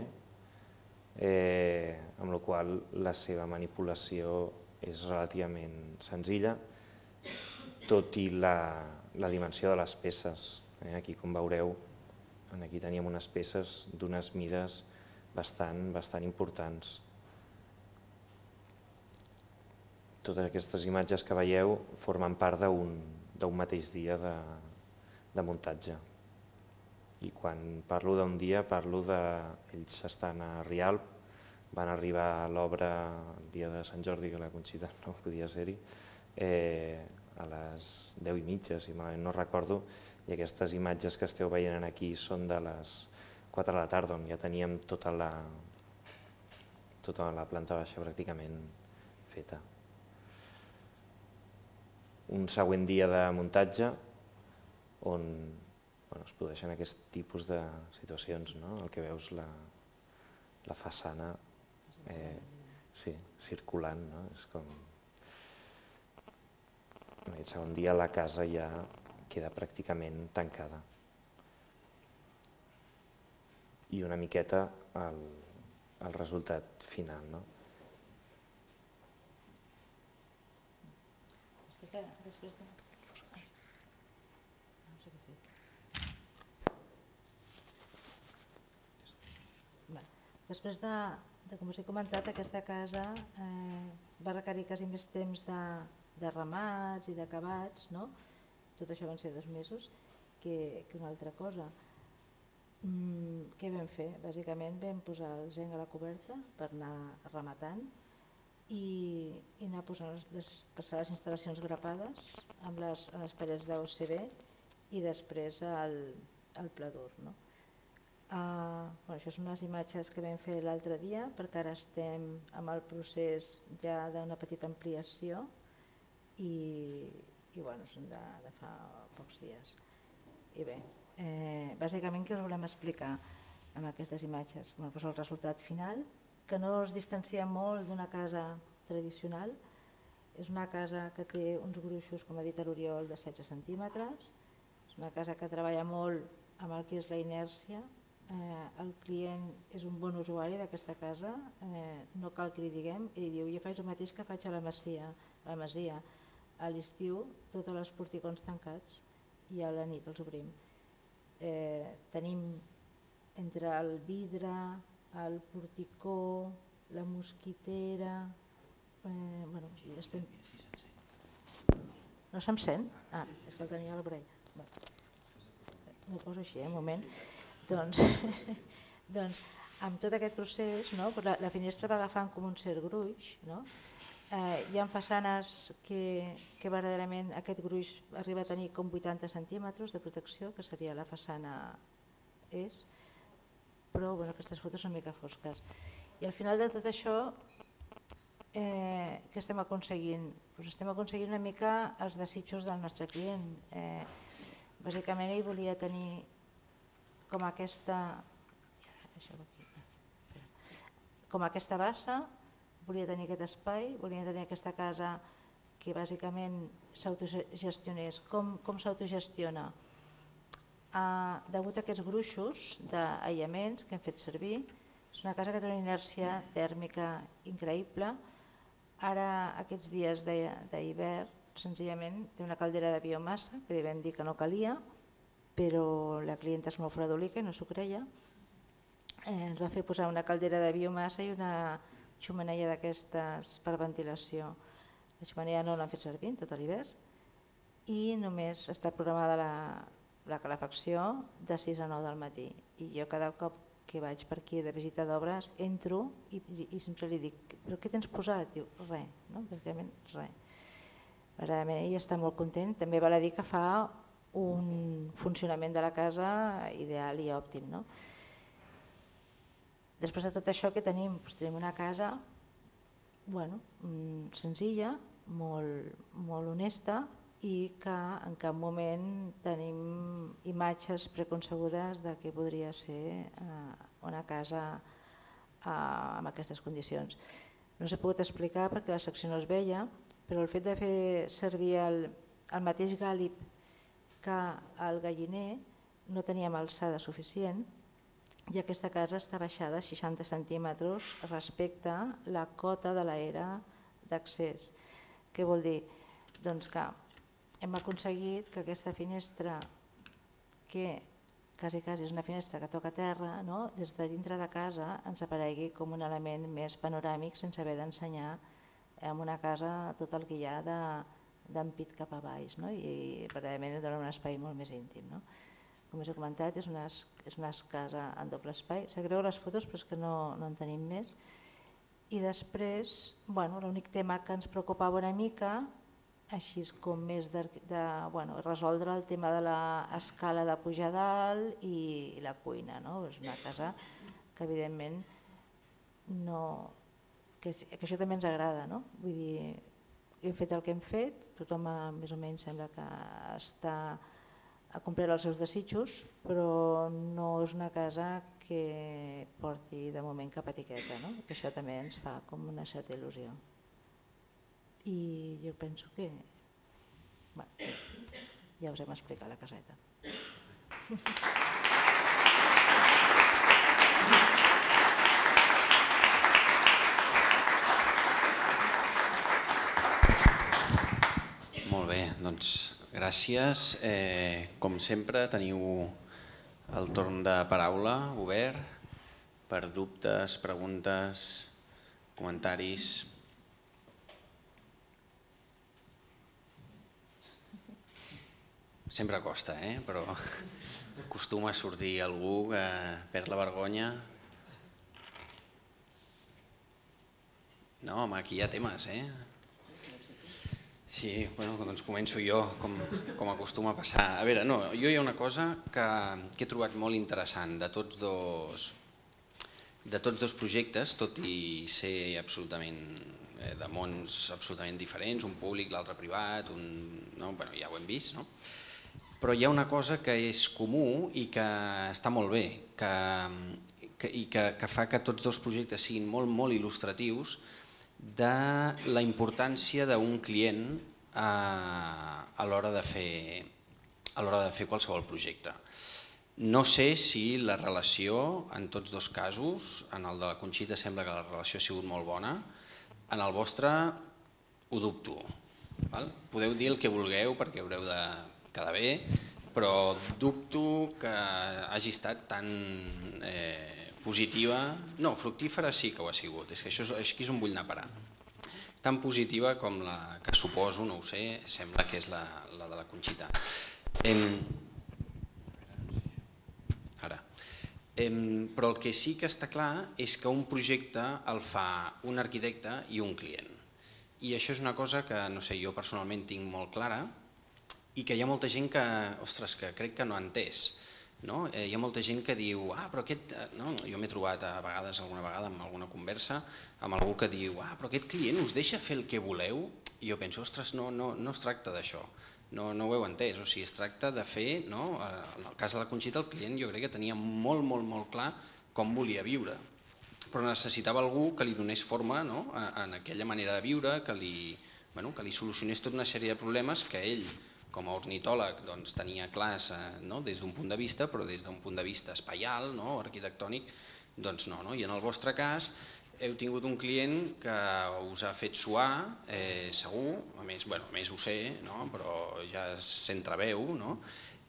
amb la qual la seva manipulació és relativament senzilla, tot i la dimensió de les peces. Aquí, com veureu, aquí teníem unes peces d'unes mides bastant importants. Totes aquestes imatges que veieu formen part d'un mateix dia de muntatge. I quan parlo d'un dia, parlo d'ells estan a Rialp, van arribar a l'obra el dia de Sant Jordi, que la Conxita no podia ser-hi, a les deu i mitja, si malament no recordo, i aquestes imatges que esteu veient aquí són de les quatre de la tarda, on ja teníem tota la planta baixa pràcticament feta. Un següent dia de muntatge on es produeixen aquest tipus de situacions, el que veus, la façana circulant. En aquest segon dia la casa ja queda pràcticament tancada. I una miqueta el resultat final. Després de... No sé què fer. Després de, com us he comentat, aquesta casa va requerir quasi més temps de remats i d'acabats, tot això van ser dos mesos, que una altra cosa. Què vam fer? Bàsicament vam posar el zinc a la coberta per anar rematant i anar posant les instal·lacions grapades amb les parets d'O C B i després el pla dur. Això són les imatges que vam fer l'altre dia, perquè ara estem en el procés ja d'una petita ampliació i són de fa pocs dies. I bé, bàsicament què us volem explicar amb aquestes imatges? El resultat final, que no es distancia molt d'una casa tradicional. És una casa que té uns gruixos, com ha dit l'Oriol, de setze centímetres. És una casa que treballa molt amb el que és la inèrcia. El client és un bon usuari d'aquesta casa, no cal que li diguem. Ell diu, jo faig el mateix que faig a la Masia. A l'estiu, tots els porticons tancats i a la nit els obrim. Tenim entre el vidre, el porticó, la mosquitera... No se'm sent? Ah, és que el tenia a l'orella. M'ho poso així, un moment. Doncs, amb tot aquest procés, la finestra va agafant com un cert gruix. Hi ha façanes que verdaderament aquest gruix arriba a tenir com vuitanta centímetres de protecció, que seria la façana és, però aquestes fotos són una mica fosques. I al final de tot això, què estem aconseguint? Estem aconseguint una mica els desitjos del nostre client. Bàsicament ell volia tenir com aquesta com aquesta bassa, volia tenir aquest espai, volia tenir aquesta casa que bàsicament s'autogestionés. Com s'autogestiona? Degut a aquests gruixos d'aïllaments que hem fet servir, és una casa que té una inèrcia tèrmica increïble. Ara, aquests dies d'hivern, senzillament té una caldera de biomassa, que li vam dir que no calia, però la clienta és molt fredolica i no s'ho creia. Ens va fer posar una caldera de biomassa i una xemeneia d'aquestes per ventilació. La xemeneia no l'han fet servir tot l'hivern i només està programada la calefacció de sis a nou del matí. I jo cada cop que vaig per aquí de visita d'obres entro i sempre li dic, però què tens posat? Diu, res, bàsicament res. Verdaderament ell està molt content, també val a dir que fa un funcionament de la casa ideal i òptim. Després de tot això que tenim? Tenim una casa senzilla, molt honesta i que en cap moment tenim imatges preconcebudes de què podria ser una casa amb aquestes condicions. No s'ha pogut explicar perquè la secció no es veia, però el fet de fer servir el mateix gàlib que al galliner no teníem alçada suficient i aquesta casa està baixada seixanta centímetres respecte a la cota de l'era d'accés. Què vol dir? Doncs que hem aconseguit que aquesta finestra, que quasi, quasi és una finestra que toca terra, no? Des de dintre de casa ens aparegui com un element més panoràmic sense haver d'ensenyar en una casa tot el que hi ha d'ampit cap a baix, no? I verdaderament dona un espai molt més íntim. No? Com us he comentat, és una, és una casa en doble espai. Sabreu les fotos, però és que no, no en tenim més. I després, bueno, l'únic tema que ens preocupava una mica, així com més de, de bueno, resoldre el tema de l'escala de pujar dalt i, i la cuina. No? És una casa que evidentment no... Que, que això també ens agrada. No? Vull dir, hem fet el que hem fet, tothom més o menys sembla que està a complir els seus desitjos, però no és una casa que porti de moment cap etiqueta. No? Que això també ens fa com una certa il·lusió. I jo penso que bueno, ja us hem explicat la caseta. Molt bé, doncs gràcies. Eh, com sempre teniu el torn de paraula obert per dubtes, preguntes, comentaris. Sempre costa, eh? Però acostuma a sortir algú que perd la vergonya. No, home, aquí hi ha temes, eh? Sí, bueno, doncs començo jo, com, com acostuma a passar. A veure, no, jo hi ha una cosa que, que he trobat molt interessant de tots dos, de tots dos projectes, tot i ser absolutament eh, de mons absolutament diferents, un públic, l'altre privat, un, no? Bueno, ja ho hem vist, no? Però hi ha una cosa que és comú i que està molt bé que, que, i que, que fa que tots dos projectes siguin molt, molt il·lustratius de la importància d'un client a, a l'hora de fer, a l'hora de fer qualsevol projecte. No sé si la relació en tots dos casos, en el de la Conxita sembla que la relació ha sigut molt bona, en el vostre ho dubto. Val? Podeu dir el que vulgueu perquè haureu de quedar bé, però dubto que hagi estat tan eh, positiva, no, fructífera sí que ho ha sigut, és que això és, aquí és on vull anar a parar. Tan positiva com la que suposo, no ho sé, sembla que és la, la de la Conxita. Em... Ara. Em... Però el que sí que està clar és que un projecte el fa un arquitecte i un client. I això és una cosa que, no sé, jo personalment tinc molt clara, i que hi ha molta gent que, ostres, que crec que no ha entès. No? Eh, hi ha molta gent que diu, ah, però aquest... No? Jo m'he trobat a vegades, alguna vegada, en alguna conversa, amb algú que diu, ah, però aquest client us deixa fer el que voleu? I jo penso, ostres, no, no, no es tracta d'això, no, no ho heu entès, o sigui, es tracta de fer, no? En el cas de la Conxita, el client jo crec que tenia molt, molt, molt clar com volia viure, però necessitava algú que li donés forma, no? En aquella manera de viure, que li, bueno, que li solucionés tota una sèrie de problemes que ell, com a ornitòleg, doncs, tenia clars no? Des d'un punt de vista, però des d'un punt de vista espaial, no? Arquitectònic, doncs no, no. I en el vostre cas heu tingut un client que us ha fet suar, eh, segur, a més, bueno, a més ho sé, no? Però ja s'entreveu, no?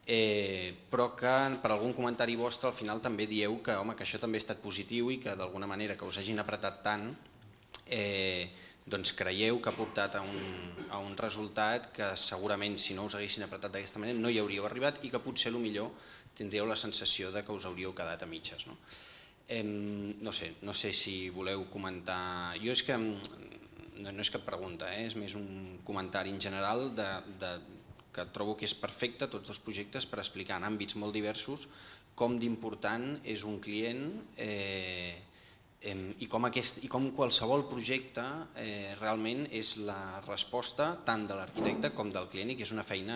eh, però que per algun comentari vostre al final també dieu que, home, que això també ha estat positiu i que d'alguna manera que us hagin apretat tant eh, doncs creieu que ha portat a un, a un resultat que segurament si no us haguessin apretat d'aquesta manera no hi hauríeu arribat i que potser millor tindríeu la sensació de que us hauríeu quedat a mitges. No, eh, no, sé, no sé si voleu comentar... Jo és que no, no és cap pregunta, eh, és més un comentari en general de, de, que trobo que és perfecte tots dos projectes per explicar en àmbits molt diversos com d'important és un client eh, i com, aquest, i com qualsevol projecte eh, realment és la resposta tant de l'arquitecte com del client i que és una feina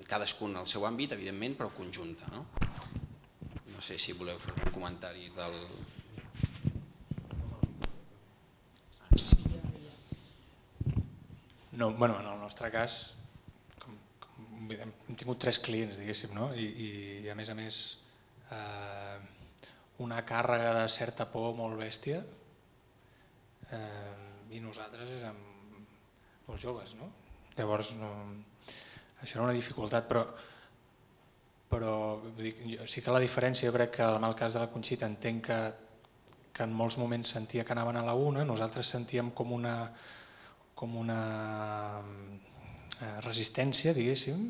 cadascun al seu àmbit, evidentment, però conjunta. No, no sé si voleu fer un comentari del... No, bueno, en el nostre cas, com, com hem tingut tres clients, diguéssim, no? I, i a més a més eh, una càrrega de certa por molt bèstia eh, i nosaltres érem molt joves, no? Llavors no, això era una dificultat, però, però dic, sí que la diferència, jo crec que en el cas de la Conxita entenc que, que en molts moments sentia que anaven a la una, nosaltres sentíem com una, com una resistència, diguéssim,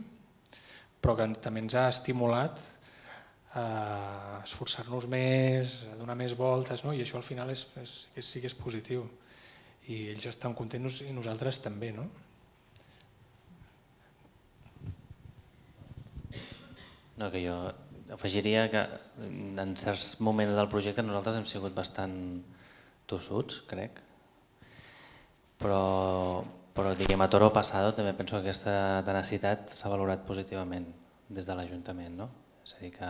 però que també ens ha estimulat a esforçar-nos més, a donar més voltes, no? I això al final és, és, sí que és positiu. I ells estan contents i nosaltres també, no? No, que jo afegiria que en certs moments del projecte nosaltres hem sigut bastant tossuts, crec, però, però diguem, a toro passado també penso que aquesta tenacitat s'ha valorat positivament des de l'Ajuntament, no? És a dir, que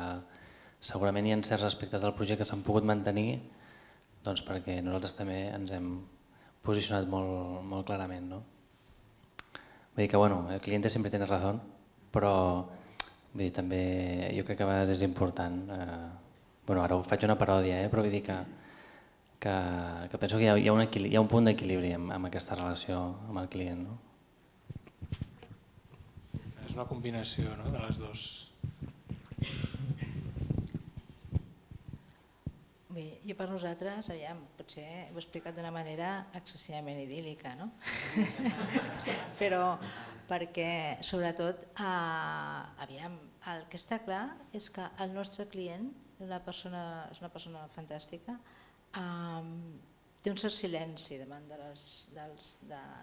segurament hi ha certs aspectes del projecte que s'han pogut mantenir doncs perquè nosaltres també ens hem posicionat molt, molt clarament, no? Vull dir que, bueno, el cliente sempre tiene razón, però vull dir, també jo crec que a vegades és important, eh, bueno, ara ho faig una paròdia, eh, però vull dir que Que, que penso que hi ha, hi ha, un, hi ha un punt d'equilibri amb, amb aquesta relació amb el client. No? És una combinació, no?, de les dues. Bé, jo per nosaltres, aviam, potser ho he explicat d'una manera excessivament idíl·lica, no? Però perquè, sobretot, eh, aviam, el que està clar és que el nostre client una persona, és una persona fantàstica, Um, té un cert silenci davant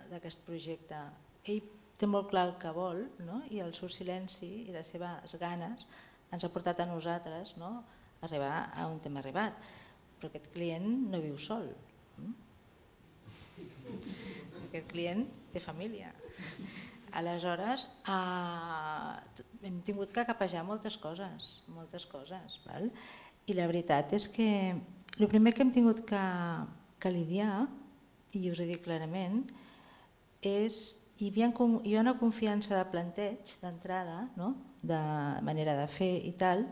d'aquest projecte. Ell té molt clar el que vol, no? I el seu silenci i les seves ganes ens ha portat a nosaltres, no?, a arribar a on hem arribat. Però aquest client no viu sol. Aquest client té família. Aleshores, eh, hem tingut que capejar moltes coses, moltes coses. Val? I la veritat és que el primer que hem tingut que, que lidiar, i us ho dic clarament, és hi havia, hi ha una confiança de planteig d'entrada, no?, de manera de fer i tal,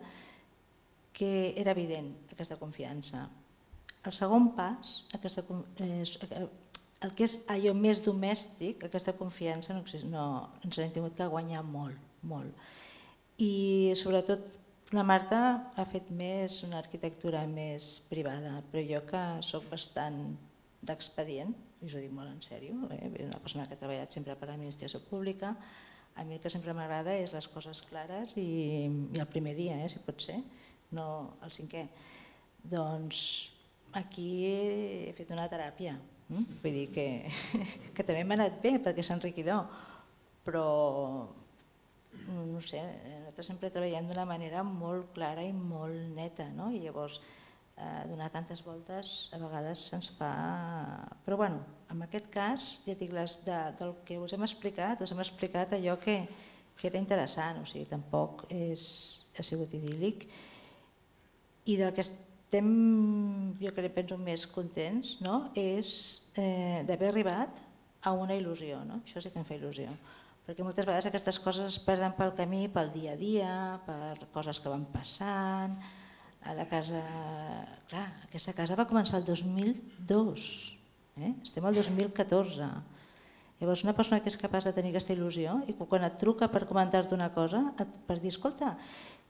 que era evident, aquesta confiança. El segon pas, aquesta, el que és allò més domèstic, aquesta confiança no, no, ens l'hem tingut que guanyar molt, molt. I sobretot la Marta ha fet més una arquitectura més privada, però jo que soc bastant d'expedient, i us ho dic molt en sèrio, eh? Una persona que ha treballat sempre per l'administració pública, a mi el que sempre m'agrada és les coses clares i, i el primer dia, eh, si pot ser, no el cinquè. Doncs aquí he fet una teràpia, eh? Vull dir que, que també m'ha anat bé perquè és enriquidor, però no sé, nosaltres sempre treballem d'una manera molt clara i molt neta, no? I llavors eh, donar tantes voltes a vegades se'ns fa... Però bueno, en aquest cas, ja dic, les de, del que us hem explicat, us hem explicat allò que, que era interessant, o sigui, tampoc és, ha sigut idíl·lic. I del que estem, jo crec, penso més contents, no?, és eh, d'haver arribat a una il·lusió, no? Això sí que em fa il·lusió. Perquè moltes vegades aquestes coses es perden pel camí, pel dia a dia, per coses que van passant. A la casa, clar, aquesta casa va començar el dos mil dos, eh? Estem al dos mil catorze. Llavors una persona que és capaç de tenir aquesta il·lusió i quan et truca per comentar-te una cosa, per dir, escolta,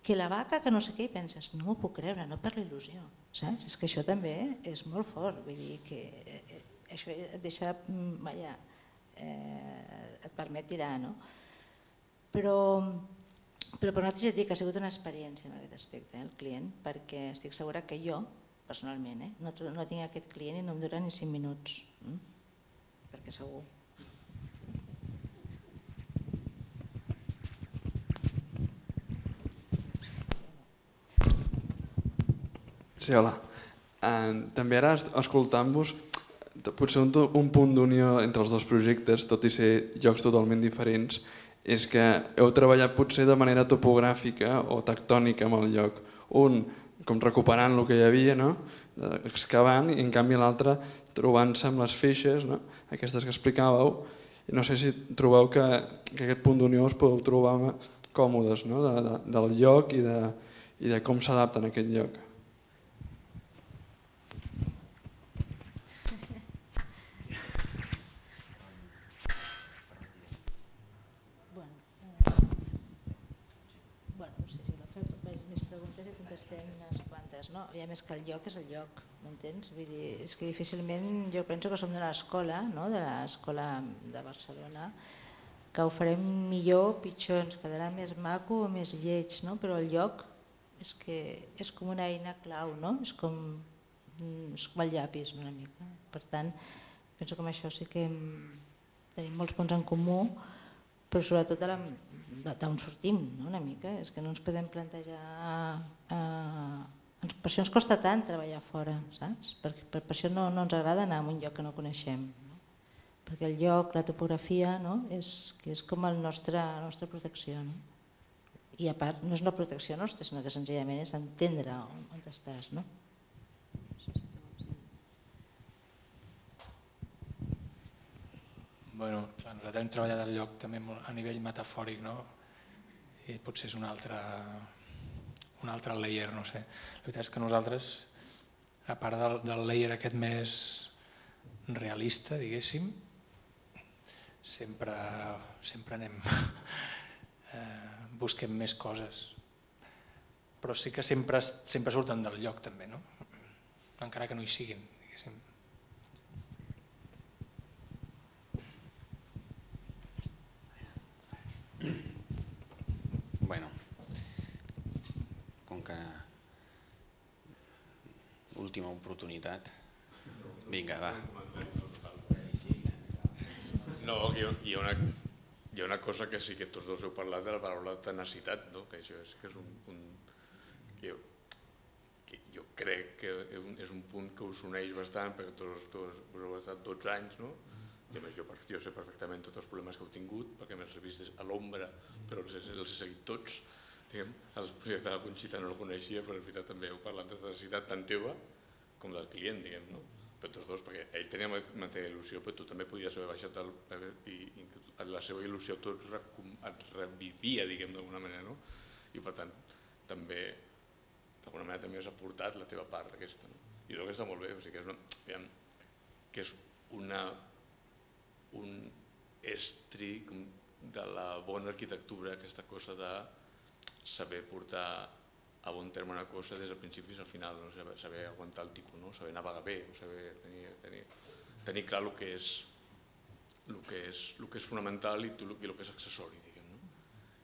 que la vaca, que no sé què, i penses, no m'ho puc creure, no per l'il·lusió, saps? És que això també és molt fort, vull dir que això et deixa, vaja, Eh, et permet tirar, no? Però, però per nosaltres ja et dic que ha sigut una experiència en aquest aspecte, eh, el client, perquè estic segura que jo, personalment, eh, no, no tinc aquest client i no em dura ni cinc minuts, eh? Perquè segur. Sí, hola. Uh, també ara, escoltant-vos, potser un, un punt d'unió entre els dos projectes, tot i ser llocs totalment diferents, és que heu treballat potser de manera topogràfica o tectònica amb el lloc. Un, com recuperant el que hi havia, no?, excavant, i en canvi l'altre trobant-se amb les feixes, no?, aquestes que explicàveu, No sé si trobeu que, que aquest punt d'unió us podeu trobar còmodes, no? de, de, del lloc i de, i de com s'adapten a aquest lloc. No? I a més que el lloc és el lloc, m'entens? Vull dir, és que difícilment, jo penso que som d'una escola, no? De l'escola de Barcelona, que ho farem millor, pitjor, ens quedarà més maco o més lleig, no? Però el lloc és que és com una eina clau, no? És com, és com el llapis una mica. Per tant, penso que amb això sí que tenim molts punts en comú, però sobretot d'on sortim, no? Una mica. És que no ens podem plantejar... Eh, Per això ens costa tant treballar fora, saps? Per, per, per això no, no ens agrada anar a un lloc que no coneixem. No? Perquè el lloc, la topografia, no? és, és com el nostre, la nostra protecció. No? I a part, no és una protecció nostra, sinó que senzillament és entendre on, on estàs. No? Bueno, clar, nosaltres hem treballat el lloc també a nivell metafòric, no? I potser és un altre... un altre layer, no sé. La veritat és que nosaltres, a part del, del layer aquest més realista, diguéssim, sempre, sempre anem, eh, busquem més coses. Però sí que sempre, sempre surten del lloc també, no? Encara que no hi siguin, diguéssim. Bueno. Que última oportunitat. Vinga, va. No, hi ha, hi ha, una, hi ha una cosa que sí que tots dos heu parlat de la paraula tenacitat, no? Que això és, que és un, un que jo, que jo crec que és un punt que us uneix bastant, perquè tots, tots us heu estat dotze anys, no? I a més jo, jo sé perfectament tots els problemes que heu tingut, perquè m'he vist a l'ombra, però els, els he seguit tots. El projecte de la Conxita no el coneixia, però en veritat també heu parlat de necessitat tant teva com del client, diguem, no? Per tots dos, perquè ell tenia la mateixa il·lusió, però tu també podies haver baixat el, i, i la seva il·lusió tot et revivia, diguem, d'alguna manera, no? I per tant, també, d'alguna manera també has aportat la teva part aquesta, no? I crec que està molt bé, o sigui que és una, diguem, que és una, un estri de la bona arquitectura, aquesta cosa de saber portar a bon terme una cosa des del principi fins al final, no? saber, saber aguantar el tipus, no? Saber navegar bé, saber tenir, tenir, tenir clar el que és, el que és, el que és fonamental i el que és accessori, diguem, no?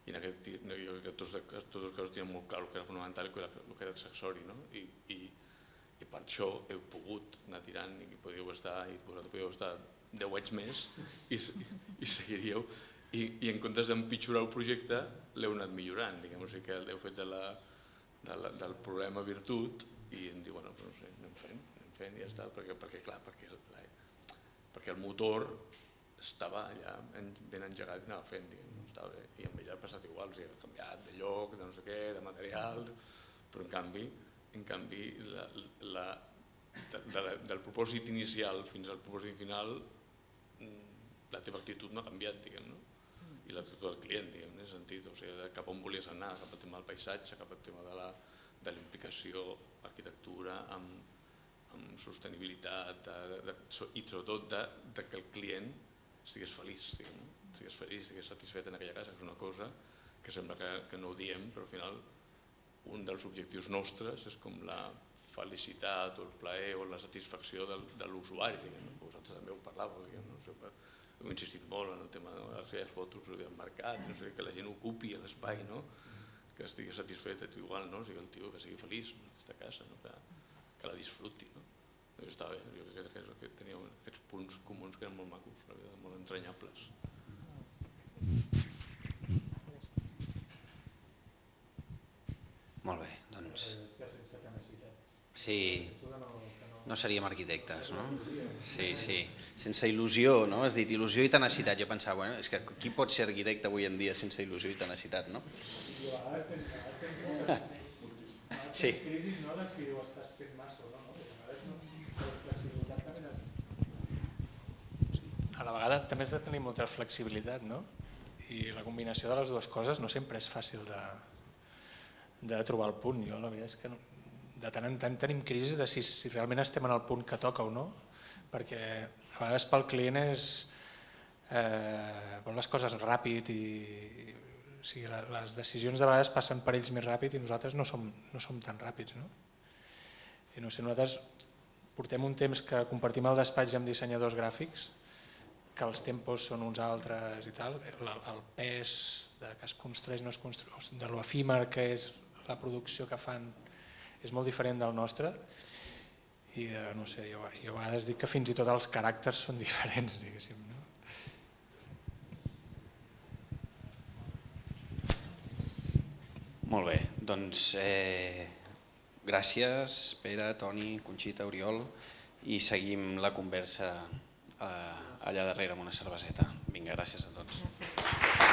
I en aquest, jo crec que tots, tots els casos tenen molt clar el que era fonamental i el que era accessori, no? I, i, i per això heu pogut anar tirant i podíeu estar, i vosaltres podíeu estar deu anys més i, i seguiríeu. I, i en comptes d'empitjorar el projecte l'heu anat millorant, diguem, o sigui que l'heu fet de la, de la, del problema virtut i em diu, bueno, no sé, anem fent, anem fent i ja està, perquè, perquè clar, perquè, la, perquè el motor estava allà ben engegat i anava fent, diguem, estava bé, i amb ell ha passat igual, o sigui, ha canviat de lloc, de no sé què, de material, però en canvi, en canvi la, la, de, de la, del propòsit inicial fins al propòsit final la teva actitud no ha canviat, diguem, no? I l'actitud del client, diguem, en aquest sentit, o sigui, cap on volies anar, cap al tema del paisatge, cap al tema de la, de la implicació arquitectura amb, amb sostenibilitat de, de, i sobretot de, de que el client estigués feliç, diguem, no? Estigués feliç, estigués satisfet en aquella casa, que és una cosa que sembla que, que no ho diem, però al final un dels objectius nostres és com la felicitat o el plaer o la satisfacció del, de l'usuari, diguem, no? Vosaltres també ho parlàveu, diguem, no? Heu insistit molt en el tema de les seves fotos del mercat, no sé, que la gent ocupi l'espai, no? Que estigui satisfet, igual, no? O sigui, el tio que sigui feliç en aquesta casa, no? que, que la disfruti. No? Doncs està bé, jo crec que, que teníeu aquests punts comuns que eren molt macos, la veritat, molt entranyables. Molt bé, doncs... Sí, no seríem arquitectes, no? Sí, sí, sense il·lusió, no? Has dit il·lusió i tenacitat. Jo pensava, bueno, és que qui pot ser arquitecte avui en dia sense il·lusió i tenacitat, no? A vegades tens crisis, no?, de si ho estàs fent massa o no, no? A vegades no, la flexibilitat també necessita. A la vegada també has de tenir molta flexibilitat, no? I la combinació de les dues coses no sempre és fàcil de, de trobar el punt. Jo la veritat és que no, de tant en tant tenim crisi de si, si realment estem en el punt que toca o no, perquè a vegades pel client és eh, vol les coses ràpid i o sigui, les decisions de vegades passen per ells més ràpid i nosaltres no som, no som tan ràpids. No? I no sé, nosaltres portem un temps que compartim el despatx amb dissenyadors gràfics, que els tempos són uns altres i tal, el, el pes de que es construeix, no es construeix, de l'efímer que és la producció que fan és molt diferent del nostre i no sé, jo, jo a vegades dic que fins i tot els caràcters són diferents, diguéssim. No? Molt bé, doncs eh, gràcies Pere, Toni, Conxita, Oriol i seguim la conversa eh, allà darrere amb una cerveseta. Vinga, gràcies a tots. Gràcies.